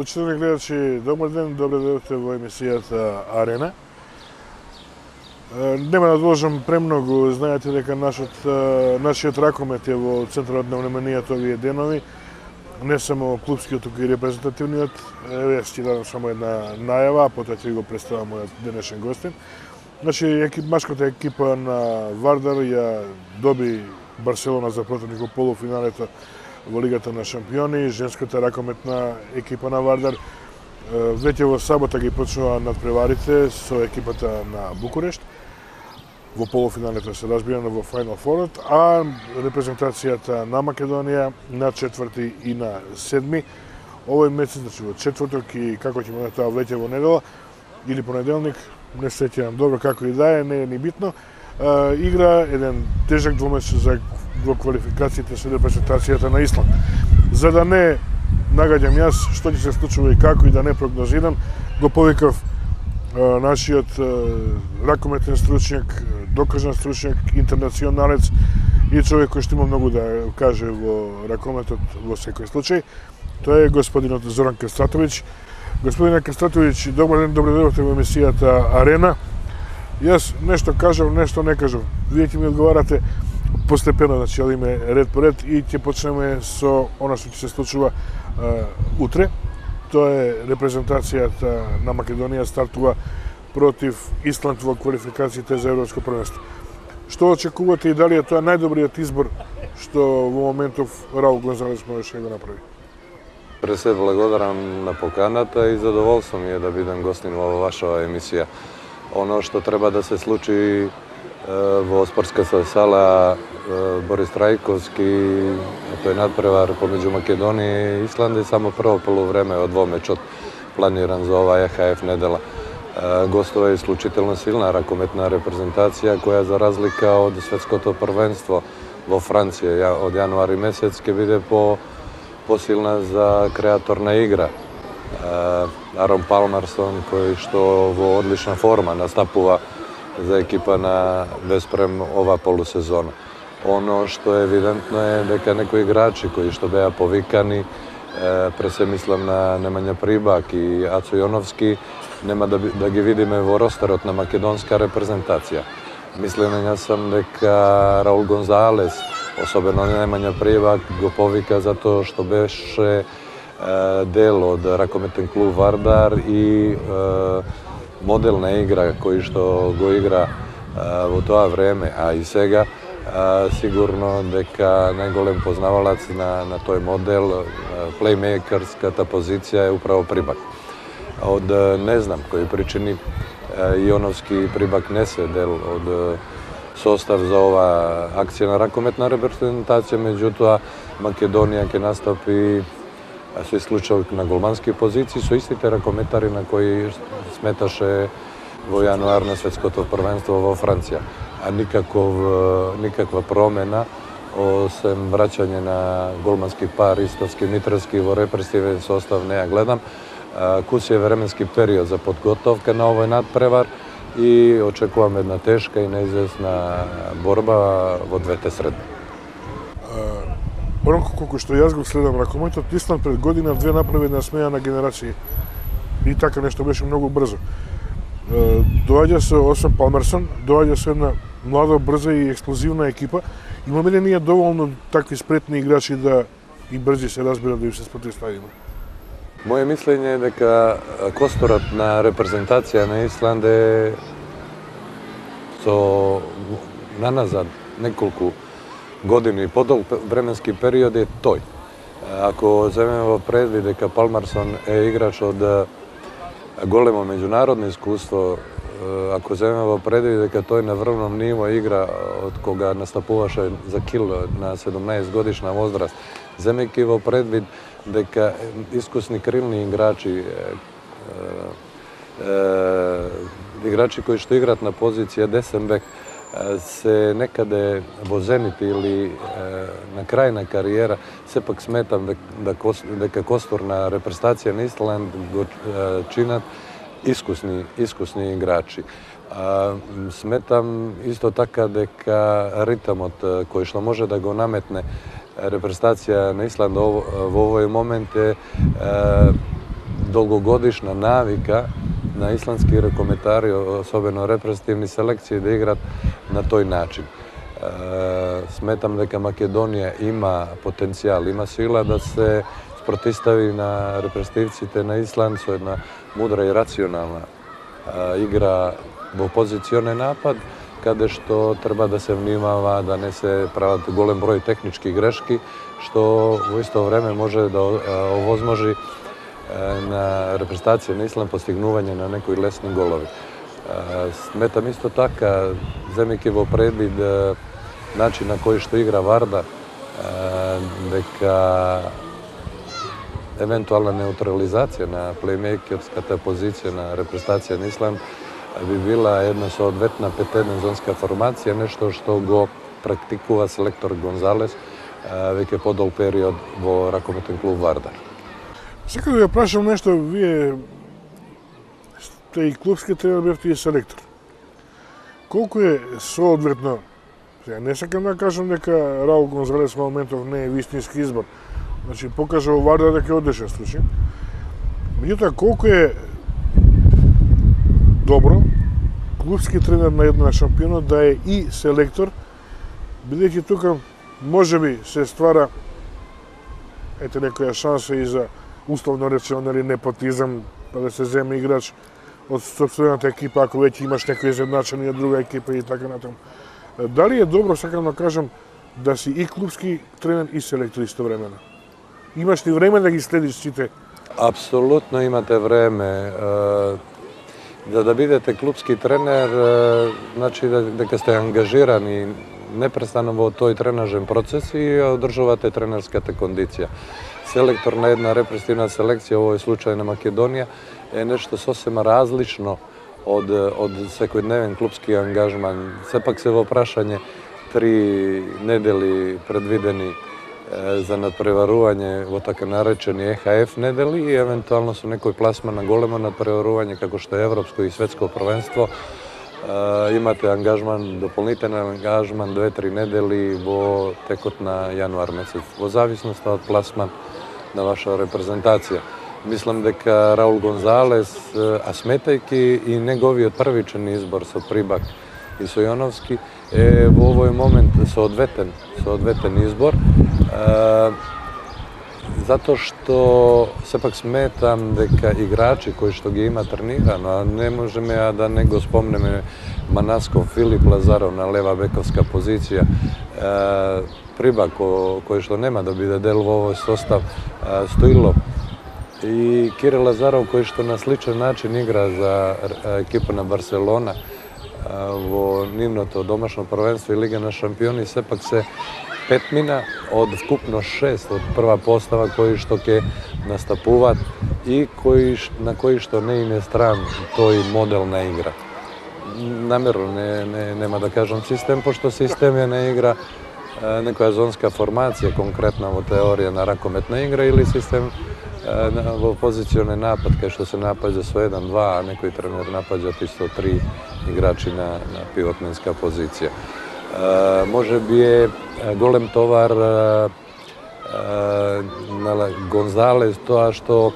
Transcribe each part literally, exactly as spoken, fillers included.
Почитувани гледачи, добар ден, добре дојдовте во емисијата Арена. Нема да должам премногу, знаете дека нашот, нашиот ракомет е во центарот на вниманието овие денови. Не само клубскиот, туку и репрезентативниот. Еве ќе дадам само една најава, а потоа ќе го представам мојот денешен гостин. Значи, екип, машката екипа на Вардар ја доби Барселона за противник во полуфиналето во Лигата на шампиони. Женската ракометна екипа на Вардар веќе во сабота ги почнува надпреварите со екипата на Букурешт. Во полуфиналето се разбирано во Final Four, а репрезентацијата на Македонија на четврти и на седми овој месец, значи во четврток и како ќе биде тоа веќе во недела или понеделник, не се сеќавам добро како и да е, не е ни битно. Игра еден тежак двумесец за во квалификациите со репрезентацијата на Исланд. За да не нагаѓам јас што ќе се случува и како и да не прогнозирам, го повикав нашиот ракометен стручњак, докажан стручњак, интернационалец и човек кој што има многу да каже во ракометот во секој случај. Тоа е господинот Зоран Кастратовиќ. Господине Кастратовиќ, добар ден, добре дојдовте во емисијата Арена. Јас нешто кажав, нешто не кажав. Вие ќе ми одговарате постепено, значи одиме ред по ред и ќе почнеме со она што ќе се случува а, утре. Тоа е репрезентацијата на Македонија стартува против Исланд во квалификациите за Европско првенство. Што очекувате и дали е тоа најдобриот избор што во моментов Раул Гонзалес можеше да го направи? Пред се благодарам на поканата и задоволство ми е да бидам гостин во ваша емисија. Оно што треба да се случи во спортската сала Борис Трајковски, тој надпревар помеѓу Македонија и Исланд е само прво полувреме од двомечот планиран за оваа Е Х Ф недела. Гостува е исклучително силна ракометна репрезентација која за разлика од светското првенство во Франција од јануари месец ќе биде по посилна за креаторна игра. Арон Палмерсон кој што во одлична форма настапува за екипа на Веспрем ова полусезона. Оно што е евидентно е дека некои играчи кои што беа повикани, пред се мислам на Немања Прибак и Ацо Јоновски, нема да, да ги видиме во ростерот на македонска репрезентација. Мислам јас сам дека Раул Гонзалес, особено Немања Прибак, го повика затоа што беше дел од ракометен клуб Вардар и модел на игра кој што го игра во тоа време, а и сега сигурно дека најголем познавалац на, на тој модел, плеймейкерската позиција е управо Прибак. Од не знам кои причини Јоновски и Прибак не се дел од состав за ова акција на ракометна репрезентација, меѓутоа Македонија ќе настапи со исклучок на голмански позиции со истите ракометари на кои сметаше во јануар на светското првенство во Франција. А никаков, никаква промена, осем враќање на голмански пар Истовски Митревски во репресивен состав не ја гледам. Куси е временски период за подготовка на овој надпревар и очекувам една тешка и неизвестна борба во двете средби. Оноко колку што јас го следам ракометот, Исланд пред година две направи една смеја на генерации. И така нешто беше многу брзо. Доаѓа се освен Палмерсон, доаѓа се една млада, брза и експлозивна екипа. Имаме ли ние доволно такви спретни играчи да и брзи се разбира да им се спротивставиме? Моje мислење е дека косторот на репрезентација на Исланд е со наназад неколку години и подолг временски период е тој. Ако земеме во предвид дека Палмерсон е играч од големо меѓународно искуство, ако земеме во предвид дека тој на врвном ниво игра од кога настапуваше за Кил на седумнаесет годишна возраст, земејќи во предвид дека искусни крилни играчи, играчи кои што играат на позиција десен бек, се некаде во зенит или на крај на кариера, сепак сметам дека костор на репрезентација на Исланд го чинат искусни, искусни играчи. Сметам исто така дека ритамот кој што може да го наметне репрезентација на Исланд во овој момент е долгогодишна навика на исландски рекометари, особено репрезентативни селекции, да играат на тој начин. Сметам дека Македонија има потенцијал, има сила да се спротистави на репрезентативците на Исланд со една мудра и рационална игра во позиционен напад, каде што треба да се внимава да не се прават голем број технички грешки, што во исто време може да овозможи на репрезентација на Исланд постигнување на некои лесни голови. Сметам исто така, земејќи во предвид начин на кој што игра Варда, дека евентуална неутрализација на плеймейкерската позиција на репрезентација на Исланд би била една соодветна петеднозонска формација, нешто што го практикува селектор Гонзалес веќе подол период во ракометен клуб Вардар. Сакам да ја прашам нешто, вие сте и клубски тренер, бевте и селектор. Колку е соодветно, сега не сакам да кажам дека Раул Гонзалес во моментов не е вистински избор, значи покажа во Вардар дека е одешен случај. Меѓутоа, колку е добро клубски тренер на една шампионот да е и селектор, бидејќи тука можеби се ствара ете некоја шанса и за условно речено нели непотизам, па да се земе играч од сопствената екипа ако веќе имаш некој изедначени од друга екипа и така натаму. Дали е добро, сакам да кажам, да си и клубски тренер и селектор истовремено? Имаш ли време да ги следиш сите? Апсолутно имате време. За да бидете клубски тренер, значи дека сте ангажирани непрестано во тој тренажен процес и одржувате тренерската кондиција. Селектор на една репрезентативна селекција, во овој случај на Македонија, е нешто сосема различно од, од секојдневен клубски ангажман. Сепак се во прашање три недели предвидени за надпреварување во така наречени Е Ха Еф недели и евентуално со некој пласман на големо надпреварување како што е Европско и Светско првенство. Имате ангажман, дополнителен ангажман две-три недели во текот на јануар месец, во зависност од пласман на ваша репрезентација. Мислам дека Раул Гонзалес, а сметајќи и неговиот првичен избор со Прибак и со Јоновски, е во овој момент соодветен, соодветен избор, затоа што сепак сметам дека играчи кои што ги има тренирано, а не можеме а да не го спомнеме Манасков, Филип Лазаров на лева бековска позиција, Прибак кој што нема да биде дел во овој состав, Стоилов и Кирил Лазаров кој што на сличен начин игра за екипа на Барселона во нивното домашно првенство и Лига на шампиони, сепак се петмина од вкупно шест од прва постава кои што ќе настапуваат и кои, на кои што не им е стран тој модел на игра. Намерно не, не, нема да кажам систем, пошто систем е на игра некоја зонска формација, конкретна во теорија на ракометна игра или систем во позиционен напад, кај што се напаѓа со еден-два, а некој тренер напаѓа и со три играчи на, на пивотменска позиција. Uh, може би е голем товар uh, uh, на Гонзалес тоа што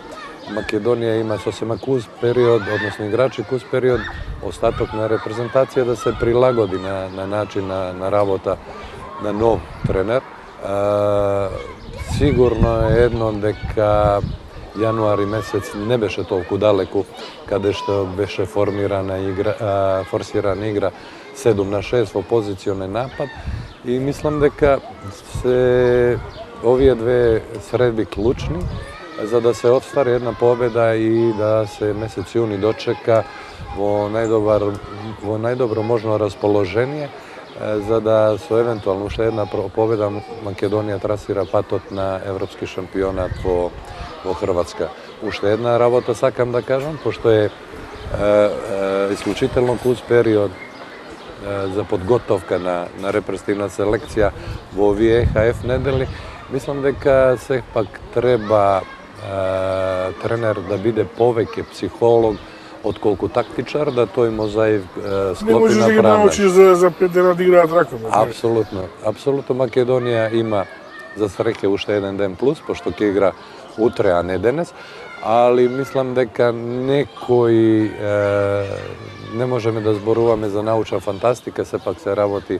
Македонија има сосема кус период, односно играчи кус период, остаток на репрезентација да се прилагоди на, на начин на, на работа на нов тренер. Uh, сигурно е едно дека јануари месец не беше толку далеку каде што беше формирана игра, uh, форсирана игра седум на шест во позиционен напад и мислам дека се овие две средби клучни за да се отствари една победа и да се месец јуни дочека во најдобар во најдобро можно расположение за да со евентуално уште една победа Македонија трасира патот на европски шампионат во во Хрватска. Уште една работа сакам да кажам, пошто е, е, е исклучително кус период за подготовка на, на репрезентативна селекција во овие Е Ха Еф недели, мислам дека сепак треба е, тренер да биде повеќе психолог отколку тактичар, да тој мозаив е, склопи не можеш направено. да ги научиш за, за пет дена да играат ракомет. Апсолутно. Апсолутно Македонија има za sreće уште еден ден плюс, пошто ќе игра утре, а не денес, али мислам дека некои е, не можеме да зборуваме за научна фантастика, сепак се работи е,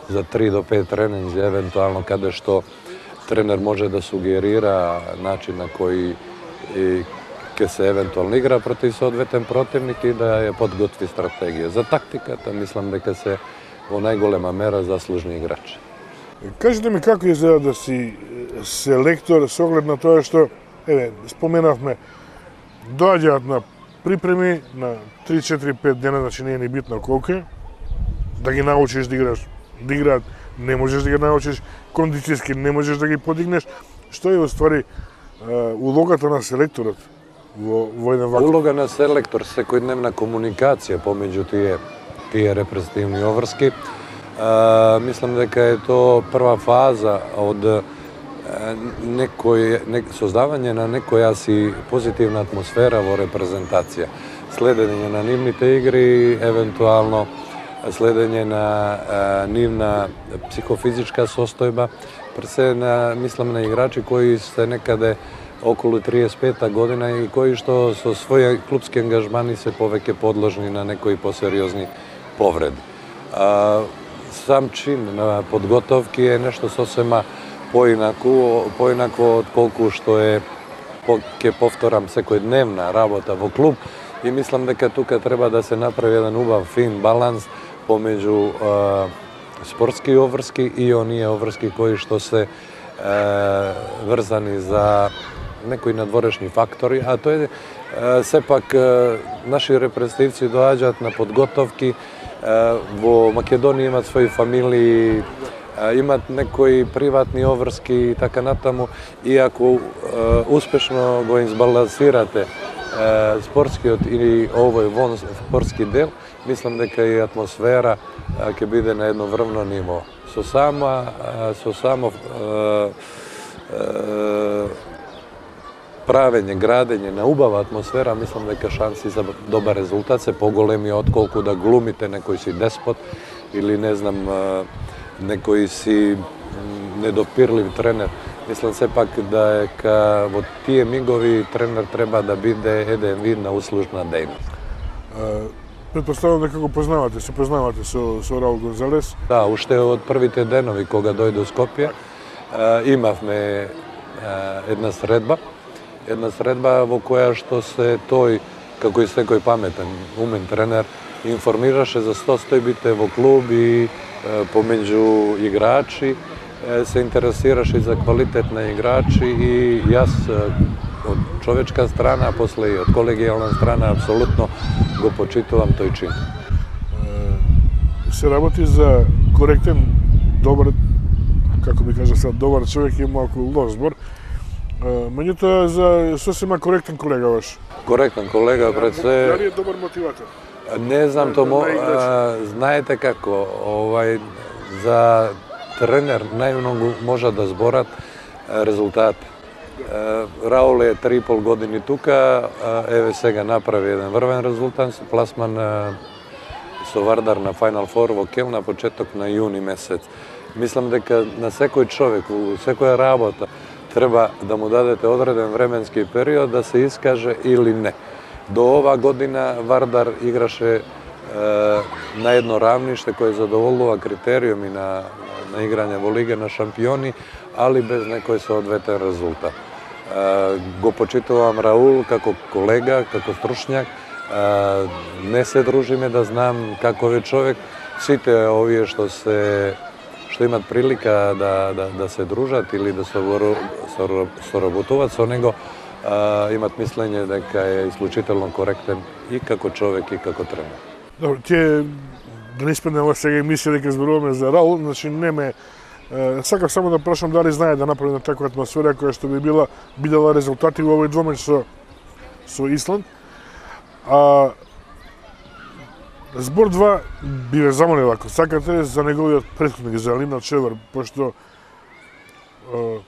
за три до пет тренинзи, евентуално каде што тренер може да сугерира начин на кој ќе се евентуално игра против соодветен противник и да ја подготви стратегија. За тактиката мислам дека се во најголема мера заслужни играчи. Кажете ми како изгледа да си селектор со оглед на тоа што, еве, споменавме, доаѓаат на припреми на три четири пет дена, значи не е ни битно колку е, да ги научиш да играш, да играат, не можеш да ги научиш, кондицијски не можеш да ги подигнеш. Што е уствари улогата на селекторот во, во еден ваков? Улога на селектор, секојдневна комуникација помеѓу тие, тие репрезентативни обврски. Uh, мислам дека е тоа прва фаза од uh, некој, не, создавање на некоја си позитивна атмосфера во репрезентација. Следење на нивните игри, евентуално следење на uh, нивна психофизичка состојба, пресе на, мислам на играчи кои се некаде околу триесет и пета година и кои што со своји клубски ангажмани се повеќе подложни на некои посериозни повреди. Uh, Сам чин на подготовки е нешто сосема поинаку, поинакво од колку што е, по, ке повторам, секојдневна работа во клуб и мислам дека тука треба да се направи еден убав, фин баланс помеѓу е, спортски обврски и оние обврски кои што се е, врзани за некои надворешни фактори, а тоа е, е сепак е, наши репрезентативци доаѓаат на подготовки. Во Македонија имат своји фамилии, имат некои приватни обврски и така натаму, и ако успешно го избалансирате спортскиот или овој вон спортски дел, мислам дека и атмосфера ќе биде на едно врвно ниво. Со само со само правење, градење на убава атмосфера, мислам дека шанси за добар резултат се поголеми отколку да глумите некој си деспот или не знам некој си недопирлив тренер. Мислам сепак дека во тие мигови тренер треба да биде еден вид на услужна дејност. Предпоставам дека го познавате, се познавате со, со Раул Гонзалес. Да, уште од првите денови кога дојде во Скопје имавме една средба. Една средба во која што се тој, како и секој паметен, умен тренер, информираше за состојбите во клуб и помеѓу играчи, се интересираше за квалитет на играчи и јас од човечка страна, а после и од колегијална страна, апсолутно го почитувам тој чин. Се работи за коректен, добар, како би кажа сега, добар човек и малку лош збор, меѓутоа за сосема коректен колега ваш. Коректен колега, пред се... Дали е добар мотиватор? Не знам, тоа знаете како, овај, за тренер најмногу може да зборат резултат. Раул е три и пол години тука, еве сега направи еден врвен резултат, пласман со Вардар на Final Four во Кел на почеток на јуни месец. Мислам дека на секој човек, во секоја работа, треба да му дадете одреден временски период да се искаже или не. До ова година Вардар играше е, на едно равниште кој задоволува критериуми на, на играње во Лига на шампиони, али без некој соодветен резултат. Е, го почитувам Раул како колега, како стручњак, е, не се дружиме да знам каков е човек. Сите овие што се што имат прилика да, да, да се дружат или да соработуваат со него, а, имат мислење дека е исклучително коректен и како човек и како тренер. Добро, тие да не испадне ова сега емисија дека зборуваме за Раул, значи не ме сакав само да прашам дали знае да направи на таква атмосфера која што би била бидела резултати во овој двомеч со со Исланд. А Збор два би ве замолил, ако сакате, за неговиот претходник, за Лина Чевар, пошто е,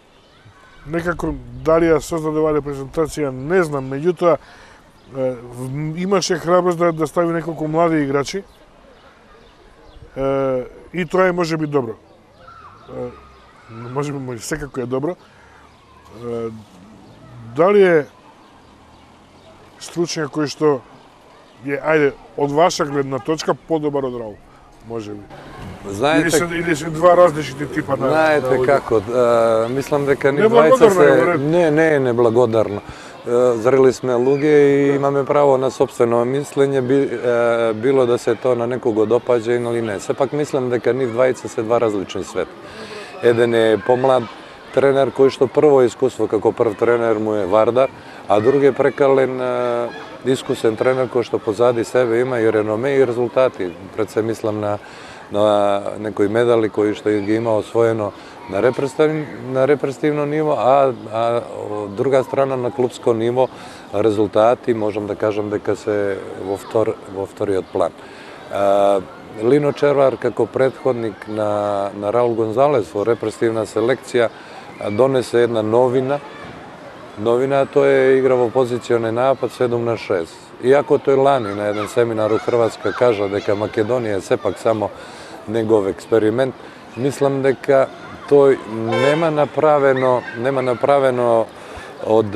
некако дали ја создаде оваа репрезентација, не знам, меѓутоа е, имаше храброст да, да стави неколку млади играчи е, и тоа е може би добро. Е, може би може секако е добро. Дали е стручњак кој што е, ајде, од ваша гледна точка подобар од Раул, може би? Знаете, или, се, или се два различни типа на... Знаете на како, а, мислам дека ни двајца се... Не, не е неблагодарно. Зрели сме луѓе и имаме право на собствено мислење, би, е, било да се тоа на некого допаѓа или не. Сепак мислам дека нив двајца се два различни свет. Еден е помлад тренер кој што прво искуство како прв тренер му е Вардар, а друг е прекален е, искусен тренер кој што позади себе има и реноме и резултати. Пред се мислам на на некои медали кои што ги има освоено на репрезентативно, на репрезентативно ниво, а, а од друга страна на клубско ниво резултати можам да кажам дека се во втор во вториот план. А, Лино Червар како претходник на на Раул Гонзалес во репрезентативна селекција донесе една новина. Новина тоа е игра во позиционен напад седум на шест. Иако тој лани на еден семинар у Хрватска кажа дека Македонија е сепак само негов експеримент, мислам дека тој нема направено, нема направено од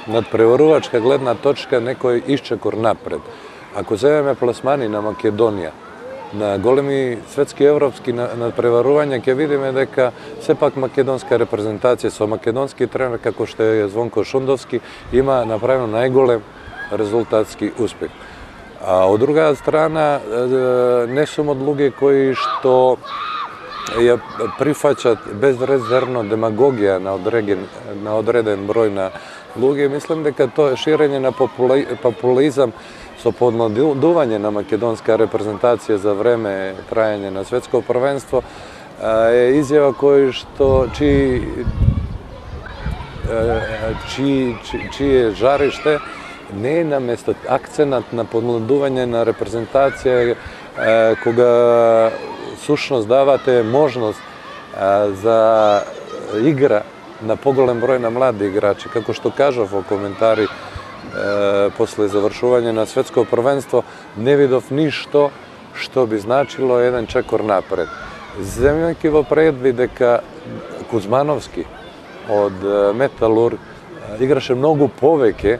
надпреварувачка гледна точка некој исчекор напред. Ако земеме пласмани на Македонија, на големи светски европски надпреварувања, ќе видиме дека сепак македонска репрезентација со македонски тренер како што е Звонко Шундовски има направено најголем резултатски успех. А од друга страна, не сум од луѓе кои што ја прифаќат безрезервно демагогија на одреден, на одреден број на луѓе. Мислам дека тоа ширење на популизам со подмладување на македонска репрезентација за време трајање на светско првенство е изјава кој што чии чии чие жариште не е на место. Акценат на подмладување на репрезентација кога сушност давате можност за игра на поголем број на млади играчи, како што кажав во коментари е, после завршување на светско првенство, не видов ништо што би значило еден чекор напред. Земјајќи во предвид дека Кузмановски од Металург играше многу повеќе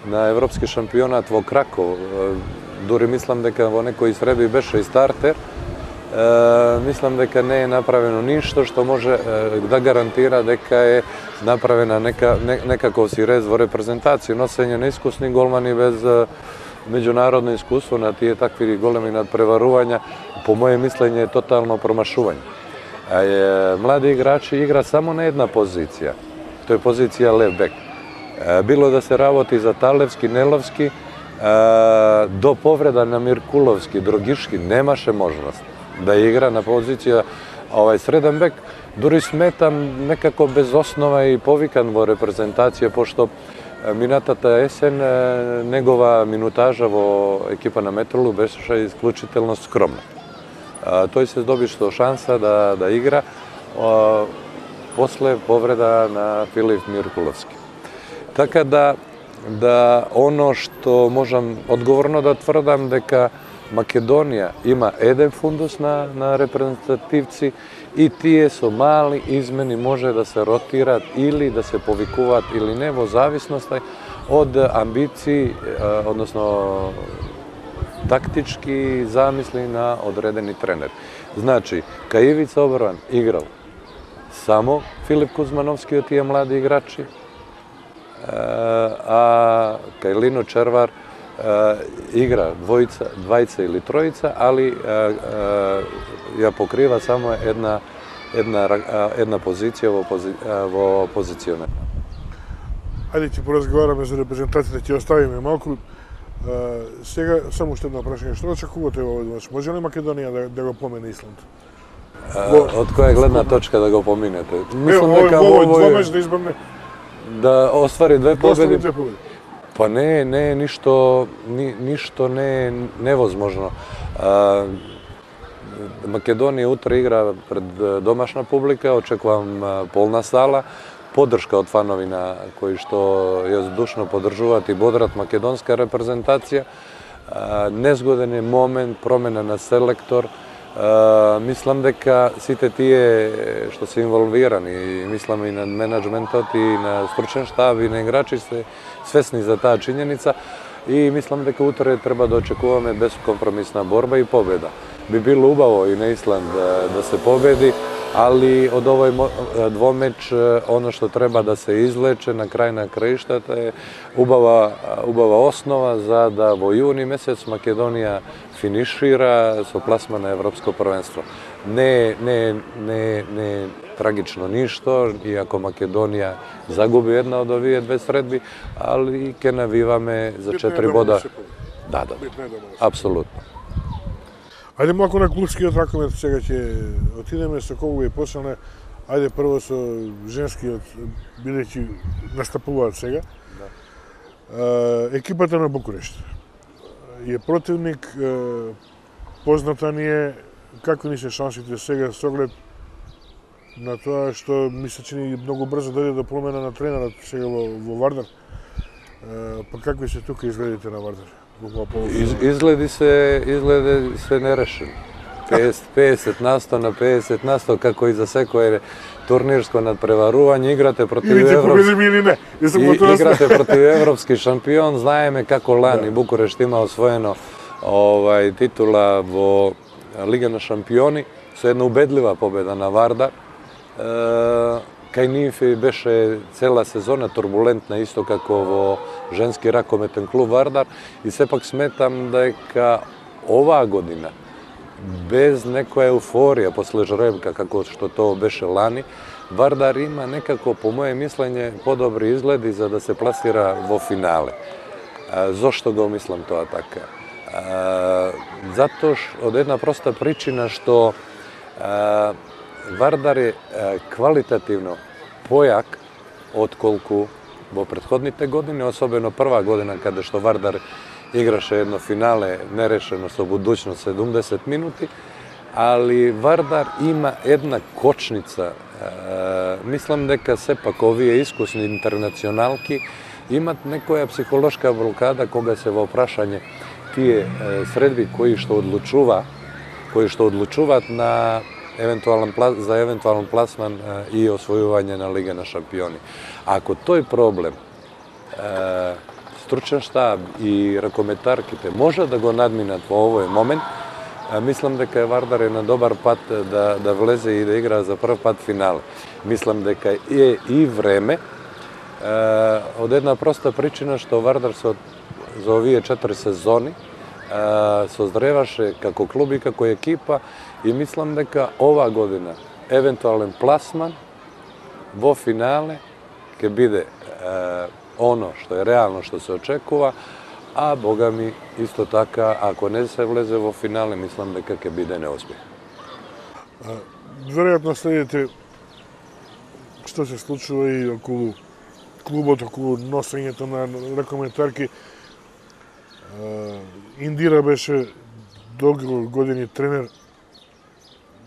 на европски шампионат во Краков, дури мислам дека во некои среди беше и стартер, Uh, мислам дека не е направено ништо што може uh, да гарантира дека е направена нека, не, некаков си рез во репрезентација, носење на искусни голмани без uh, меѓународно искуство на тие такви големи надпреварувања, по моје мислење е тотално промашување. А, е, млади играчи игра само на една позиција, тоа е позиција лев бек. Uh, било да се работи за Талевски, Неловски, uh, до повреда на Миркуловски, Дрогишки немаше можност да игра на позиција овај среден бек, дури сметам некако без основа и повикан во репрезентација, пошто минатата есен негова минутажа во екипа на Метролу беше исклучително скромна. Тој се здоби што шанса да, да игра а, после повреда на Филип Миркуловски. Така да, да оно што можам одговорно да тврдам дека Македонија има еден фундус на, на репрезентативци и тие со мали измени може да се ротираат или да се повикуваат или не во зависност од амбиции, односно тактички замисли на одредени тренери. Значи, кај Ивица Обран играл само Филип Кузмановски од тие млади играчи, а кај Лино Червар игра двојца, двајца или тројца, али ја покрива само една една една позиција во пози, во позициона. Ајде ќе поразговараме за репрезентацијата, ќе оставиме малку. Сега само уште едно прашање, што очекувате во овој мач? Може ли Македонија да, да го помине Исланд? Од која гледна точка да го поминете? Мислам дека во овој двомеч да избавне да оствари две победи. Две победи. Па не, не е ништо, ни, ништо не е невозможно. А, Македонија утре игра пред домашна публика, очекувам полна сала, поддршка од фанови на кои што ја здушно поддржуваат и бодрат македонска репрезентација. А, незгоден е момент, промена на селектор, Мислам дека сите тие што се инволвирани, мислам и на менеджментот и на стручен штаб и на играчи се свесни за таа чинјеница и мислам дека утре треба да очекуваме безкомпромисна борба и победа. Би било убаво и на Исланд да, да се победи, али од овој двомеч оно што треба да се излече на крај на краиштата е убава, убава основа за да во јуни месец Македонија финишира со пласма на Европско првенство. Не, не, не, не трагично ништо, иако Македонија загуби една од овие две средби, али ќе навиваме за четири бода. Да, да, апсолутно. Ајде малку на клубскиот ракомет сега ќе отидеме со кого и почнеме. Ајде прво со женскиот, бидејќи настапуваат сега. Да. Екипата на Букурешт е противник, позната ни е какви ни се шансите сега со оглед на тоа што ми се чини многу брзо дојде до промена на тренерот сега во, во Вардар. Па какви се тука изгледите на Вардар? Из, изгледи се изгледи се нерешени. педесет на сто на педесет на сто како и за секое турнирско надпреварување играте против европски и, играте против европски шампион. Знаеме како лани да. Букурешт има освоено овај титула во Лига на шампиони со една убедлива победа на Вардар. Е, кај нив беше цела сезона турбулентна, исто како во женски ракометен клуб Вардар, и сепак сметам дека оваа година, без некоја еуфорија после жребка, како што тоа беше лани, Вардар има некако, по моје мислење, подобри изгледи за да се пласира во финале. А, зошто го мислам тоа така? А, затоа што од една проста причина што а, Вардар е квалитативно појак отколку во претходните години, особено прва година каде што Вардар играше едно финале нерешено со Будуќност седумдесет минути, али Вардар има една кочница. Мислам дека сепак овие искусни интернационалки имат некоја психолошка блокада кога се во прашање тие средби кои што одлучува, кои што одлучуваат на евентуален за евентуален пласман и освојување на Лига на шампиони. Ако тој проблем стручен штаб и ракометарките може да го надминат во овој момент, мислам дека Вардар е на добар пат да, да влезе и да игра за прв пат финал. Мислам дека е и време, од една проста причина што Вардар со, за овие четири сезони создреваше како клуб и како екипа, и мислам дека ова година евентуален пласман во финале ќе биде е, оно што е реално што се очекува, а бога ми исто така ако не се влезе во финале, мислам дека ќе биде неуспех. Веројатно следите што се случува и околу клубот, околу носењето на ракометарки. Индира беше долги години тренер.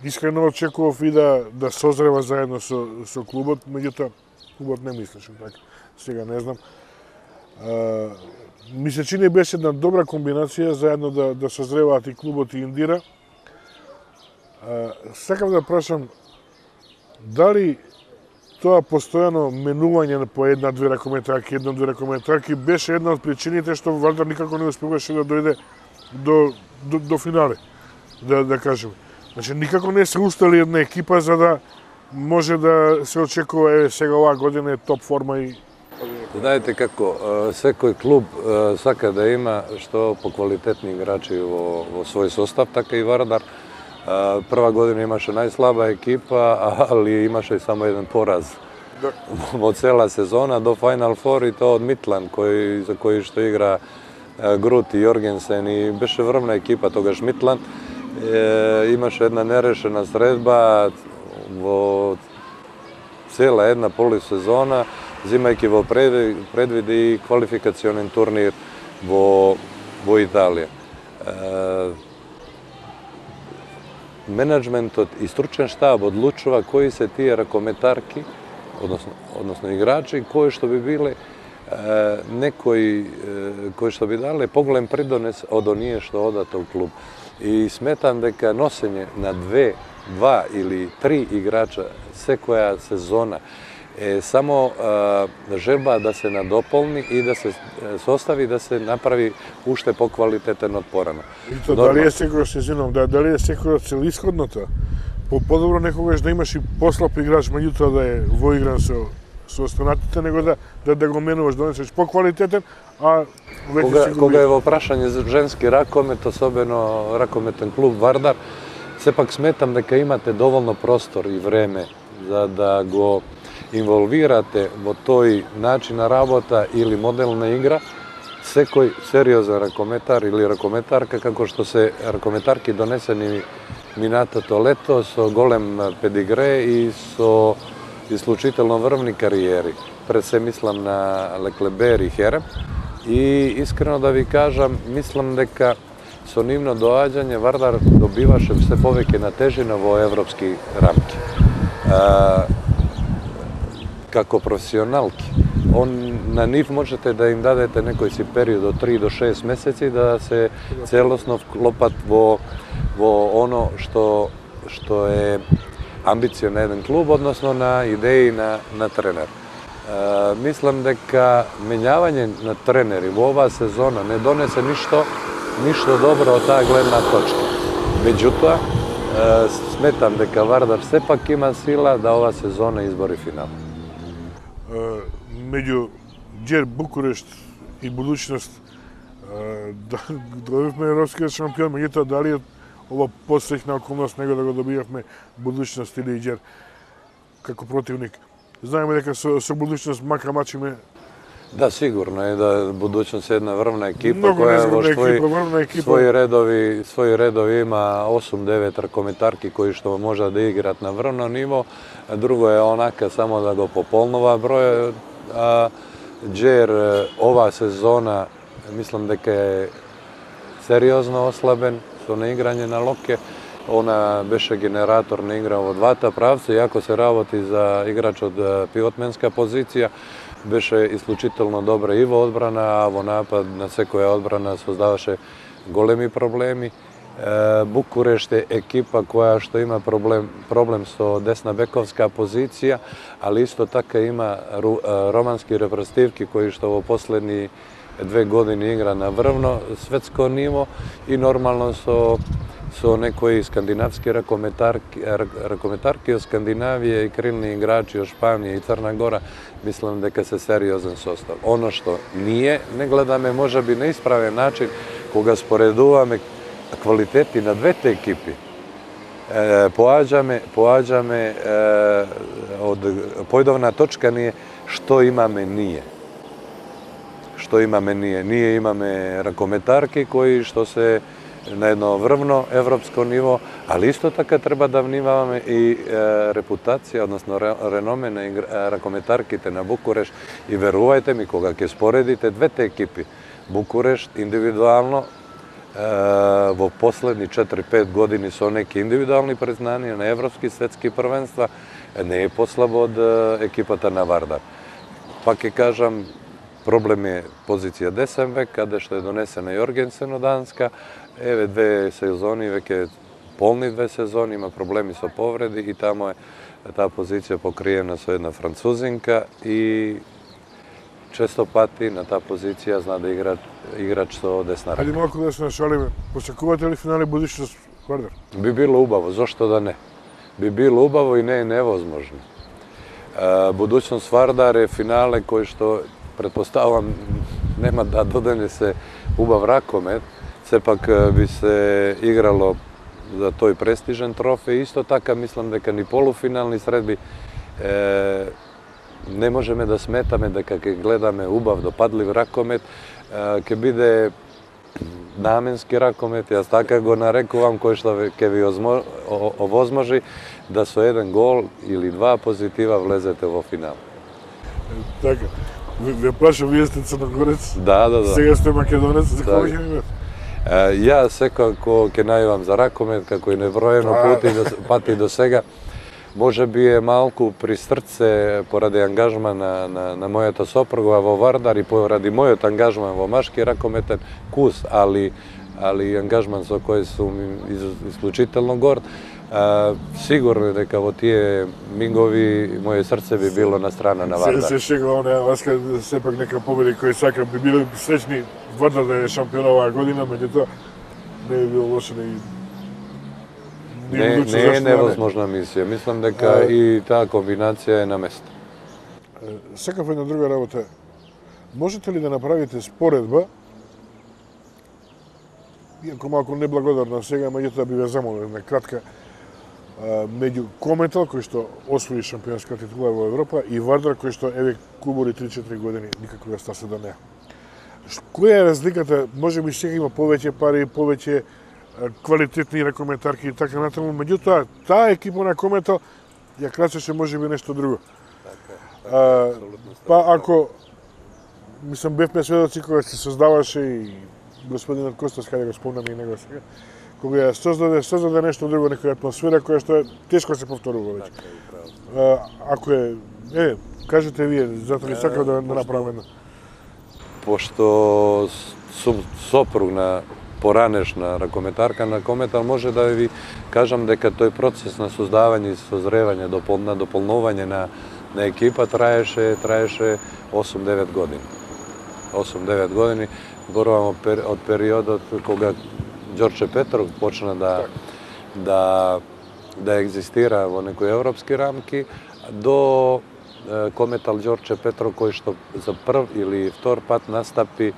Искрено очекував и да, да созрева заедно со, со клубот, меѓутоа клубот не мислеше така. Сега не знам. А, ми се чини беше една добра комбинација заедно да, да созреваат и клубот и Индира. А, сакам да прашам дали тоа постојано менување по една-две ракометарки, една-две ракометарки беше една од причините што Вардар никако не успеваше да дојде до, до, до финале, да, да кажеме. Значи, никако не се устали една екипа за да може да се очекува, еве сега оваа година е топ форма и... Знаете како, секој клуб сака да има што поквалитетни играчи во, во свој состав, така и Вардар. Прва година имаше најслаба екипа, али имаше само еден пораз да. Во цела сезона до Final Four, и тоа од Митланд, кој, за кој што игра Грут и Јоргенсен, и беше врвна екипа тогаш Митланд. Е, имаше една нерешена средба во цела една полусезона, зимајќи во предвид и квалификационен турнир во, во Италија. Е, менеджментот и стручен штаб одлучува кои се тие ракометарки, односно, односно играчи, кои што би биле некои кои што би дале поголем придонес од оние што одат у клуб. И сметам дека носење на две, два или три играча секоја сезона е само е, желба да се надополни и да се состави да се направи уште поквалитетен од порано. И то дали е секојаш се извинувам, да, дали е секојаш целисходното? По подобро некогаш да имаш и послаб играч, меѓутоа да е воигран со со останатите, него да да, да го менуваш, донесеш поквалитетен, а веќе кога, си кога е во прашање за женски ракомет, особено ракометен клуб Вардар, сепак сметам дека имате доволно простор и време за да го инволвирате во тој начин на работа или модел на игра секој сериозен ракометар или ракометарка, како што се ракометарки донесени минатото лето со голем педигре и со исклучително врвни кариери. Пред се мислам на Леклебер и Херем. И искрено да ви кажам, мислам дека со нивно доаѓање Вардар добиваше се повеќе на тежина во европски рамки. А, како професионалки, он, на нив можете да им дадете некој си период од три до шест месеци да се целосно вклопат во, во оно што, што е амбиција на еден клуб, односно на идеи на, на тренер. E, мислам дека менјавање на тренери во оваа сезона не донесе ништо, ништо добро од таа гледна точка. Меѓутоа, e, сметам дека Вардар сепак има сила да ова сезона избори финал. Uh, меѓу Џер, Букурешт и будуćност uh, да добивме европскиот шампион, меѓутоа дали е ова посреќна околност него да го добивавме будуćност или Џер како противник? Знаеме дека со, со будуćност мака мачиме. Да, сигурно е да будуćност е една врвна екипа Много која во своји, екипа, своји редови, своји редови има осум девет ракометарки кои што може да играат на врвно ниво, а друго е онака само да го пополнува број. А Џер ова сезона мислам дека е сериозно ослабен со неиграње на лопке. Она беше генератор на игра во двата правца, иако се работи за играч од пивотменска позиција, беше исклучително добра и во одбрана, а во напад на секоја одбрана создаваше големи проблеми. Букурешт е екипа која што има проблем, проблем со десна бековска позиција, али исто така има романски репрезентативки кои што во последни две години игра на врвно светско ниво и нормално со со некои скандинавски ракометарки, ракометарки од Скандинавија и крилни играчи од Шпанија и Црна Гора, мислам дека се сериозен состав. Оно што ние не гледаме можеби на исправен начин кога споредуваме квалитети на двете екипи. Е, поаѓаме, поаѓаме е, од појдовна точка ни е што имаме ние. Што имаме ние? Ние имаме ракометарки кои што се на едно врвно европско ниво, али исто така треба да внимаваме и е, репутација, односно реноме на игра, ракометарките на Букурешт. И верувајте ми, кога ќе споредите двете екипи, Букурешт индивидуално е, во последни четири-пет години со неки индивидуални признанија на европски светски првенства, не е послабо од екипата на Вардар. Пак ќе кажам, проблем е позиција десен век, каде што е донесена Јоргенсен од Данска. Еве две сезони, веќе полни две сезони, има проблеми со повреди и тамо е таа позиција покриена со една французинка и често пати на таа позиција зна да игра играч со десна рака. Ајде малку да се нашалиме. Посекувате ли финале будуćност Вардар? Би било убаво, зошто да не? Би било убаво и не е невозможно. Будуćност Вардар е финале кој што претпоставувам нема да донесе убав ракомет, сепак би се играло за тој престижен трофеј. Исто така мислам дека ни полуфинални средби е, не можеме да сметаме дека ќе гледаме убав допадлив ракомет, е, ќе биде наменски ракомет, јас така го нарекувам, кој што ќе ви овозможи да со еден гол или два позитива влезете во финал. Така. Ве плаша, вие сте црногорец, да, да, да. Сега сте македонец, за кога ќе имате? Ја секако ќе најавам за ракомет, како и неброено пати до, пати до сега. Може би е малку при срце поради ангажман на, на, на мојата сопруга во Вардар и поради мојот ангажман во машки ракометен кус, али, али ангажман со кој сум исклучително горд. А, сигурно дека во тие мигови моје срце би било на страна на Вардар. Се, се шегува, не, Васка, сепак нека победи кој сака, би било сречни Вардар да е шампион оваа година, меѓутоа не би било лошо да и Не, не е невозможна мисија. Мислам дека а, и таа комбинација е на место. Сакав една друга работа. Можете ли да направите споредба, иако малку неблагодарна сега, меѓутоа би ве замолил една кратка, меѓу Кометал, кој што освои шампионска титула во Европа, и Вардар, кој што еве клубори три-четири години никако да стасе до неа. Која е разликата? Може би сега има повеќе пари, повеќе квалитетни ракометарки и така натаму, меѓутоа таа екипа на Кометал ја крачеше можеби нешто друго. А, па ако мислам бевме сведоци кога се создаваше и господинот Костас, каде го спомнам и него сега, кога ја создаде, создаде нешто друго, некоја атмосфера која што е тешко се повторува веќе. А, ако е, е, кажете вие, затоа ли сакав да, да направам едно? Пошто сум сопруг на поранешна ракометарка на Кометал, може да ви кажам дека тој процес на создавање и созревање, на дополнување на, на екипа траеше, траеше осум-девет години. осум-девет години, зборувам од периодот кога Ѓорче Петров почна да, да, да екзистира во некои европски рамки, до Кометал Ѓорче Петров, кој што за прв или втор пат настапи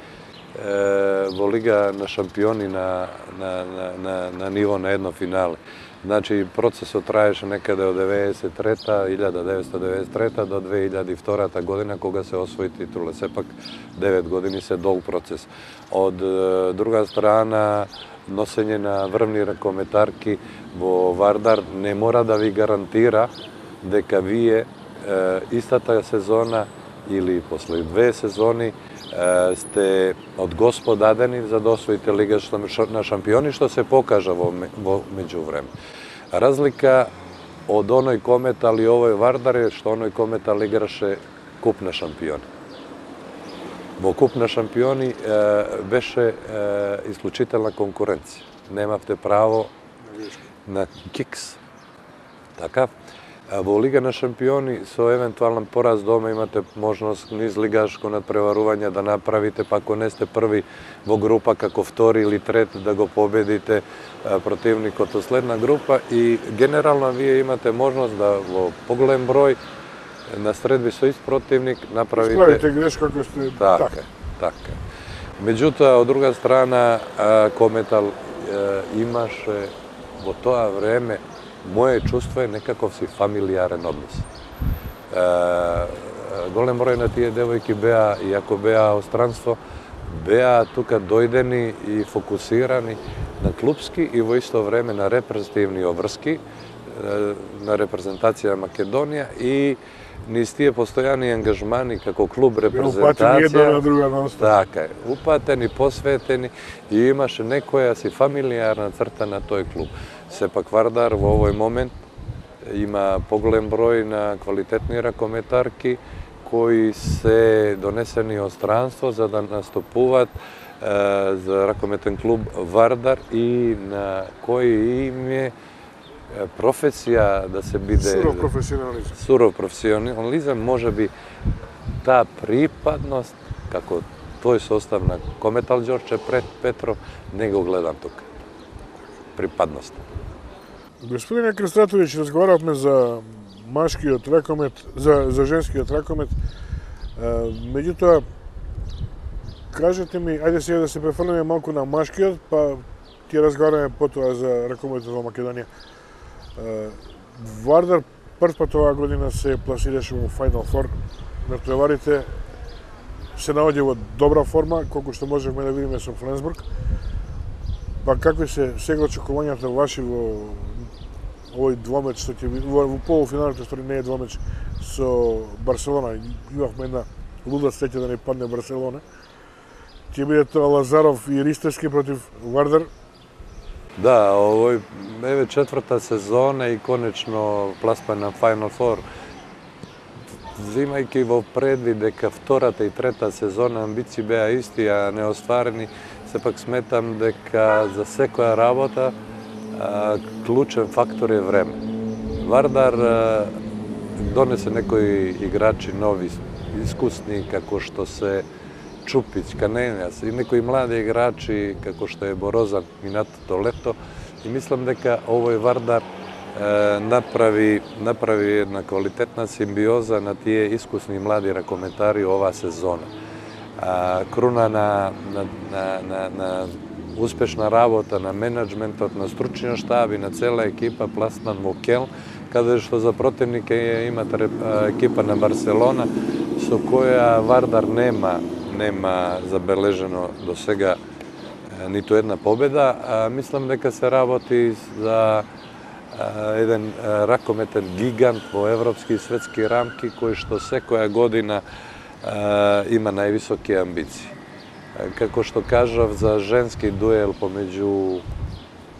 во Лига на шампиони на, на, на, на, на ниво на едно финале. Значи, процесот траеше некаде од деветдесет и трета, илјада деветстотини деветдесет и трета до две илјади и втора година, кога се освои титула. Сепак девет години се долг процес. Од друга страна, носење на врвни ракометарки во Вардар не мора да ви гарантира дека вие истата сезона или после две сезони сте од Господ дадени за да освоите Лига на шампиони, што се покажа во, во меѓувреме. Разлика од оној Кометал и овој Вардар е што оној Кометал играше Куп на шампиони. Во Куп на шампиони е, беше е, исклучителна конкуренција. Немавте право на кикс. Така? Во Лига на шампиони со евентуален пораз дома имате можност низ лигашко надпреварување да направите, па ако не сте први во група, како втори или трет да го победите противникот од следна група, и генерално вие имате можност да во поголем број на средби со ист противник направите... Справите грешка како сте... Така, така. Меѓутоа, од друга страна, Кометал имаше во тоа време, моје чувство е некаков си фамилиарен однос. Е, голем број на тие девојки беа, иако беа од странство, беа тука дојдени и фокусирани на клубски и во исто време на репрезентативни обврски, на репрезентација Македонија и низ тие постојани ангажмани како клуб репрезентација. Упатени една на друга на остав. Така е, упатени, посветени и имаше некоја си фамилиарна црта на тој клуб. Сепак Вардар во овој момент има поголем број на квалитетни ракометарки кои се донесени од странство за да настапуваат е, за ракометен клуб Вардар и на кој им е професија да се биде... Суров професионализм. Суров професионализм, може би таа припадност, како тој состав на Кометал Ѓорче Петров, не го гледам тука. Припадност. Господине Крстратович, разговаравме за машкиот ракомет, за, за женскиот ракомет. Меѓутоа, кажете ми, ајде сега да се префрлиме малку на машкиот, па ќе разговараме потоа за ракометот во Македонија. Вардар прв пат оваа година се пласираше во Final Four. Натпреварите се наоѓа во добра форма, колку што можевме да видиме со Фленсбург. Па какви се сега очекувањата ваши во овој двомеч што ќе биде во полуфиналите, што не е двомеч со Барселона? Имавме една луда среќа да не падне Барселона. Ќе биде тоа Лазаров и Ристевски против Вардар. Да, овој еве четврта сезона и конечно пласман на Final Four. Взимајќи во предвид дека втората и трета сезона амбиции беа исти, а неостварени, сепак сметам дека за секоја работа а, клучен фактор е време. Вардар а, донесе некои играчи нови, искусни, како што се Чупич, Канењас и некои млади играчи, како што е Борозан минатото лето. И мислам дека овој Вардар е, направи, направи една квалитетна симбиоза на тие искусни млади ракометари оваа сезона. А, круна на, на, на, на, на успешна работа на менеджментот, на стручниот штаб и на цела екипа пласман во Келн, каде што за противник има екипа на Барселона, со која Вардар нема нема забележено до сега ниту една победа. А, мислам дека се работи за а, еден ракометен гигант во европски и светски рамки, кој што секоја година а, има највисоки амбиции. А, како што кажав за женски дуел помеѓу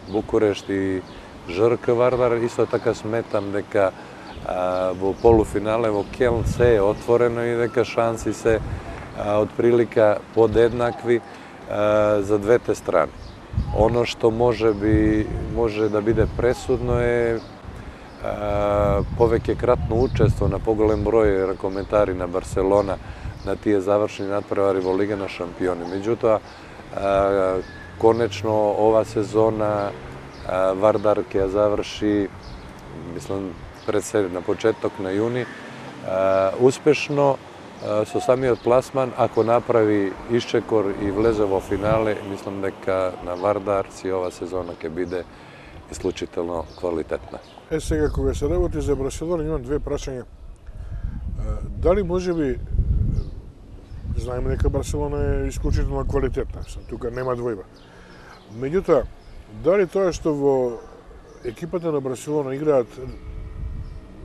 Букурешт и ЖРК Вардар, исто така сметам дека а, во полуфинале во Келн се е отворено и дека шанси се од прилика подеднакви а, за двете страни. Оно што може би може да биде пресудно е а, повеќе кратно учество на поголем број ракометари на Барселона на тие завршни надпревари во Лига на шампиони. Меѓутоа, а, конечно ова сезона а, Вардар ќе ја заврши, мислам, пред се на почеток на јуни, а, успешно со самиот пласман, ако направи исчекор и влезе во финале, мислам дека на Вардар си ова сезона ќе биде исклучително квалитетна. Е, сега, кога се работи за Барселона, имам две прашања. Дали може би, знаеме дека Барселона е исклучително квалитетна, тука нема двојба. Меѓутоа, дали тоа што во екипата на Барселона играат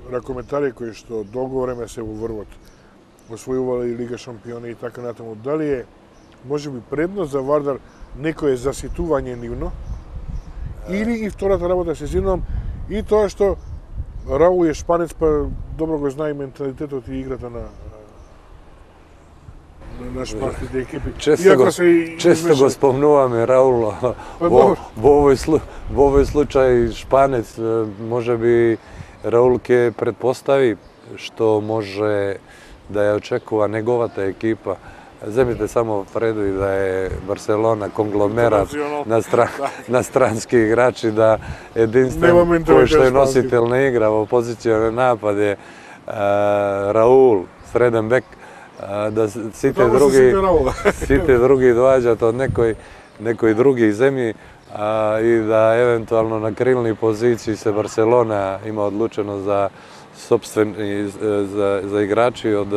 ракометари кои што долго време се во врвот, освојувале и Лига шампиони и така натаму, дали е можеби предност за Вардар некое заситување нивно, или и втората работа се зинувам и тоа што Раул е шпанец, па добро го знае менталитетот и играта на на шпанските екипи. Често го, често го спомнуваме Раул во, во, овој слу, во овој случај шпанец, можеби Раул ќе предпостави што може да ја очекува неговата екипа. Земите само преду и да е Барселона конгломерат на, стран, на странски играчи, да единствен кој што е носител на игра во позиција на напад е а, Раул, среден бек, а, да сите други сите други доаѓаат од некој некои други земји, а, и да евентуално на крилни позиции се Барселона има одлучено за собствени за, за играчи од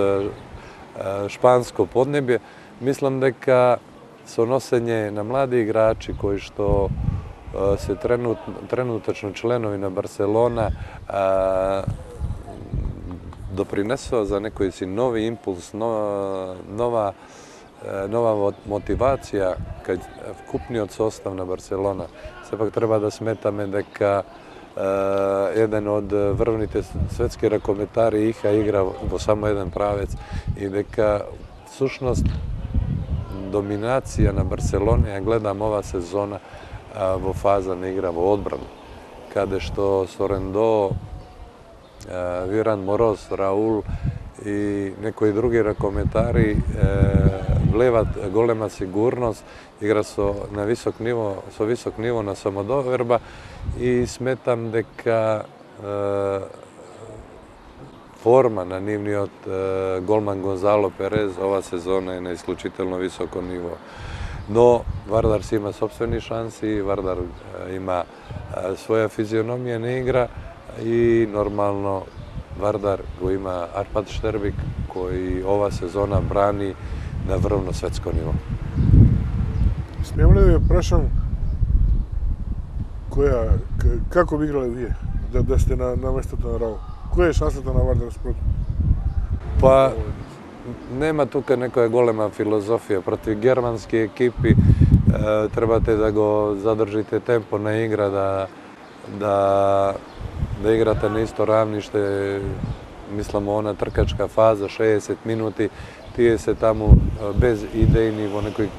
шпанско поднебје. Мислам дека со носење на млади играчи кои што се тренут, тренутачно членови на Барселона а, допринесува за некој си нови импулс, нова, нова, нова мотивација кај вкупниот состав на Барселона. Сепак треба да сметаме дека еден од врвните светски ракометари иха игра во само еден правец и дека всушност доминација на Барселона ја гледам ова сезона во фаза на игра во одбрана, каде што Сорендо, Виран Мороз, Раул и некои други ракометари влеват голема сигурност, игра со на висок ниво, со висок ниво на самодоверба и сметам дека е, форма на нивниот е, голман Гонзало Перез ова сезона е на исклучително високо ниво. Но Вардар си има собствени шанси, Вардар е, има е, своја физиономија на игра и нормално Вардар го има Арпад Штербик кој ова сезона брани на врвно светско ниво. Смеам ли да ве прашам која, како би играле вие да, да сте на, на местото на Раул? Која е шансата на Вардар спротив? Па, нема тука некоја голема филозофија. Против германски екипи trebate da go zadržite tempo na igra, da, da, da igrate na isto ravnište, mislimo ona trkačka faza, šezdeset minuti, tije se tamo bez idejni vo nekoj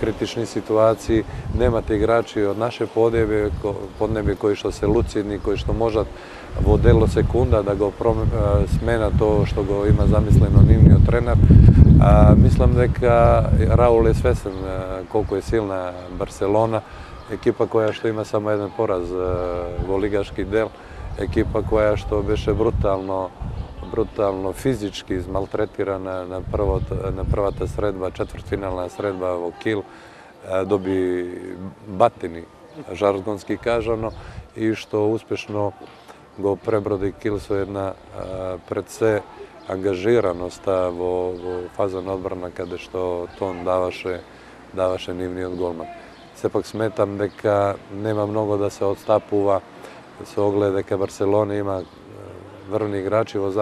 kritični situaciji, nemate igrači od naše podnebje, podnebje koji što se lucidni, koji što možat vo delo sekunda da go smena to što go ima zamisleno nivnio trener. A, mislim da Raul je svesen koliko je silna Barcelona, ekipa koja što ima samo jedan poraz vo ligaški del, ekipa koja što beše brutalno brutalno fizički izmaltretirana na, prvo, na prvata sredba, četvrtfinalna sredba vo Kiel, dobi batini, žargonski kažano, i što uspešno go prebrodi Kiel su jedna pred sve angažiranost vo, vo fazan odbrana kada što ton davaše, davaše nivni od golman. Sepak smetam deka nema mnogo da se odstapuva, se ogleda deka Barcelona ima vrvni igrači vo,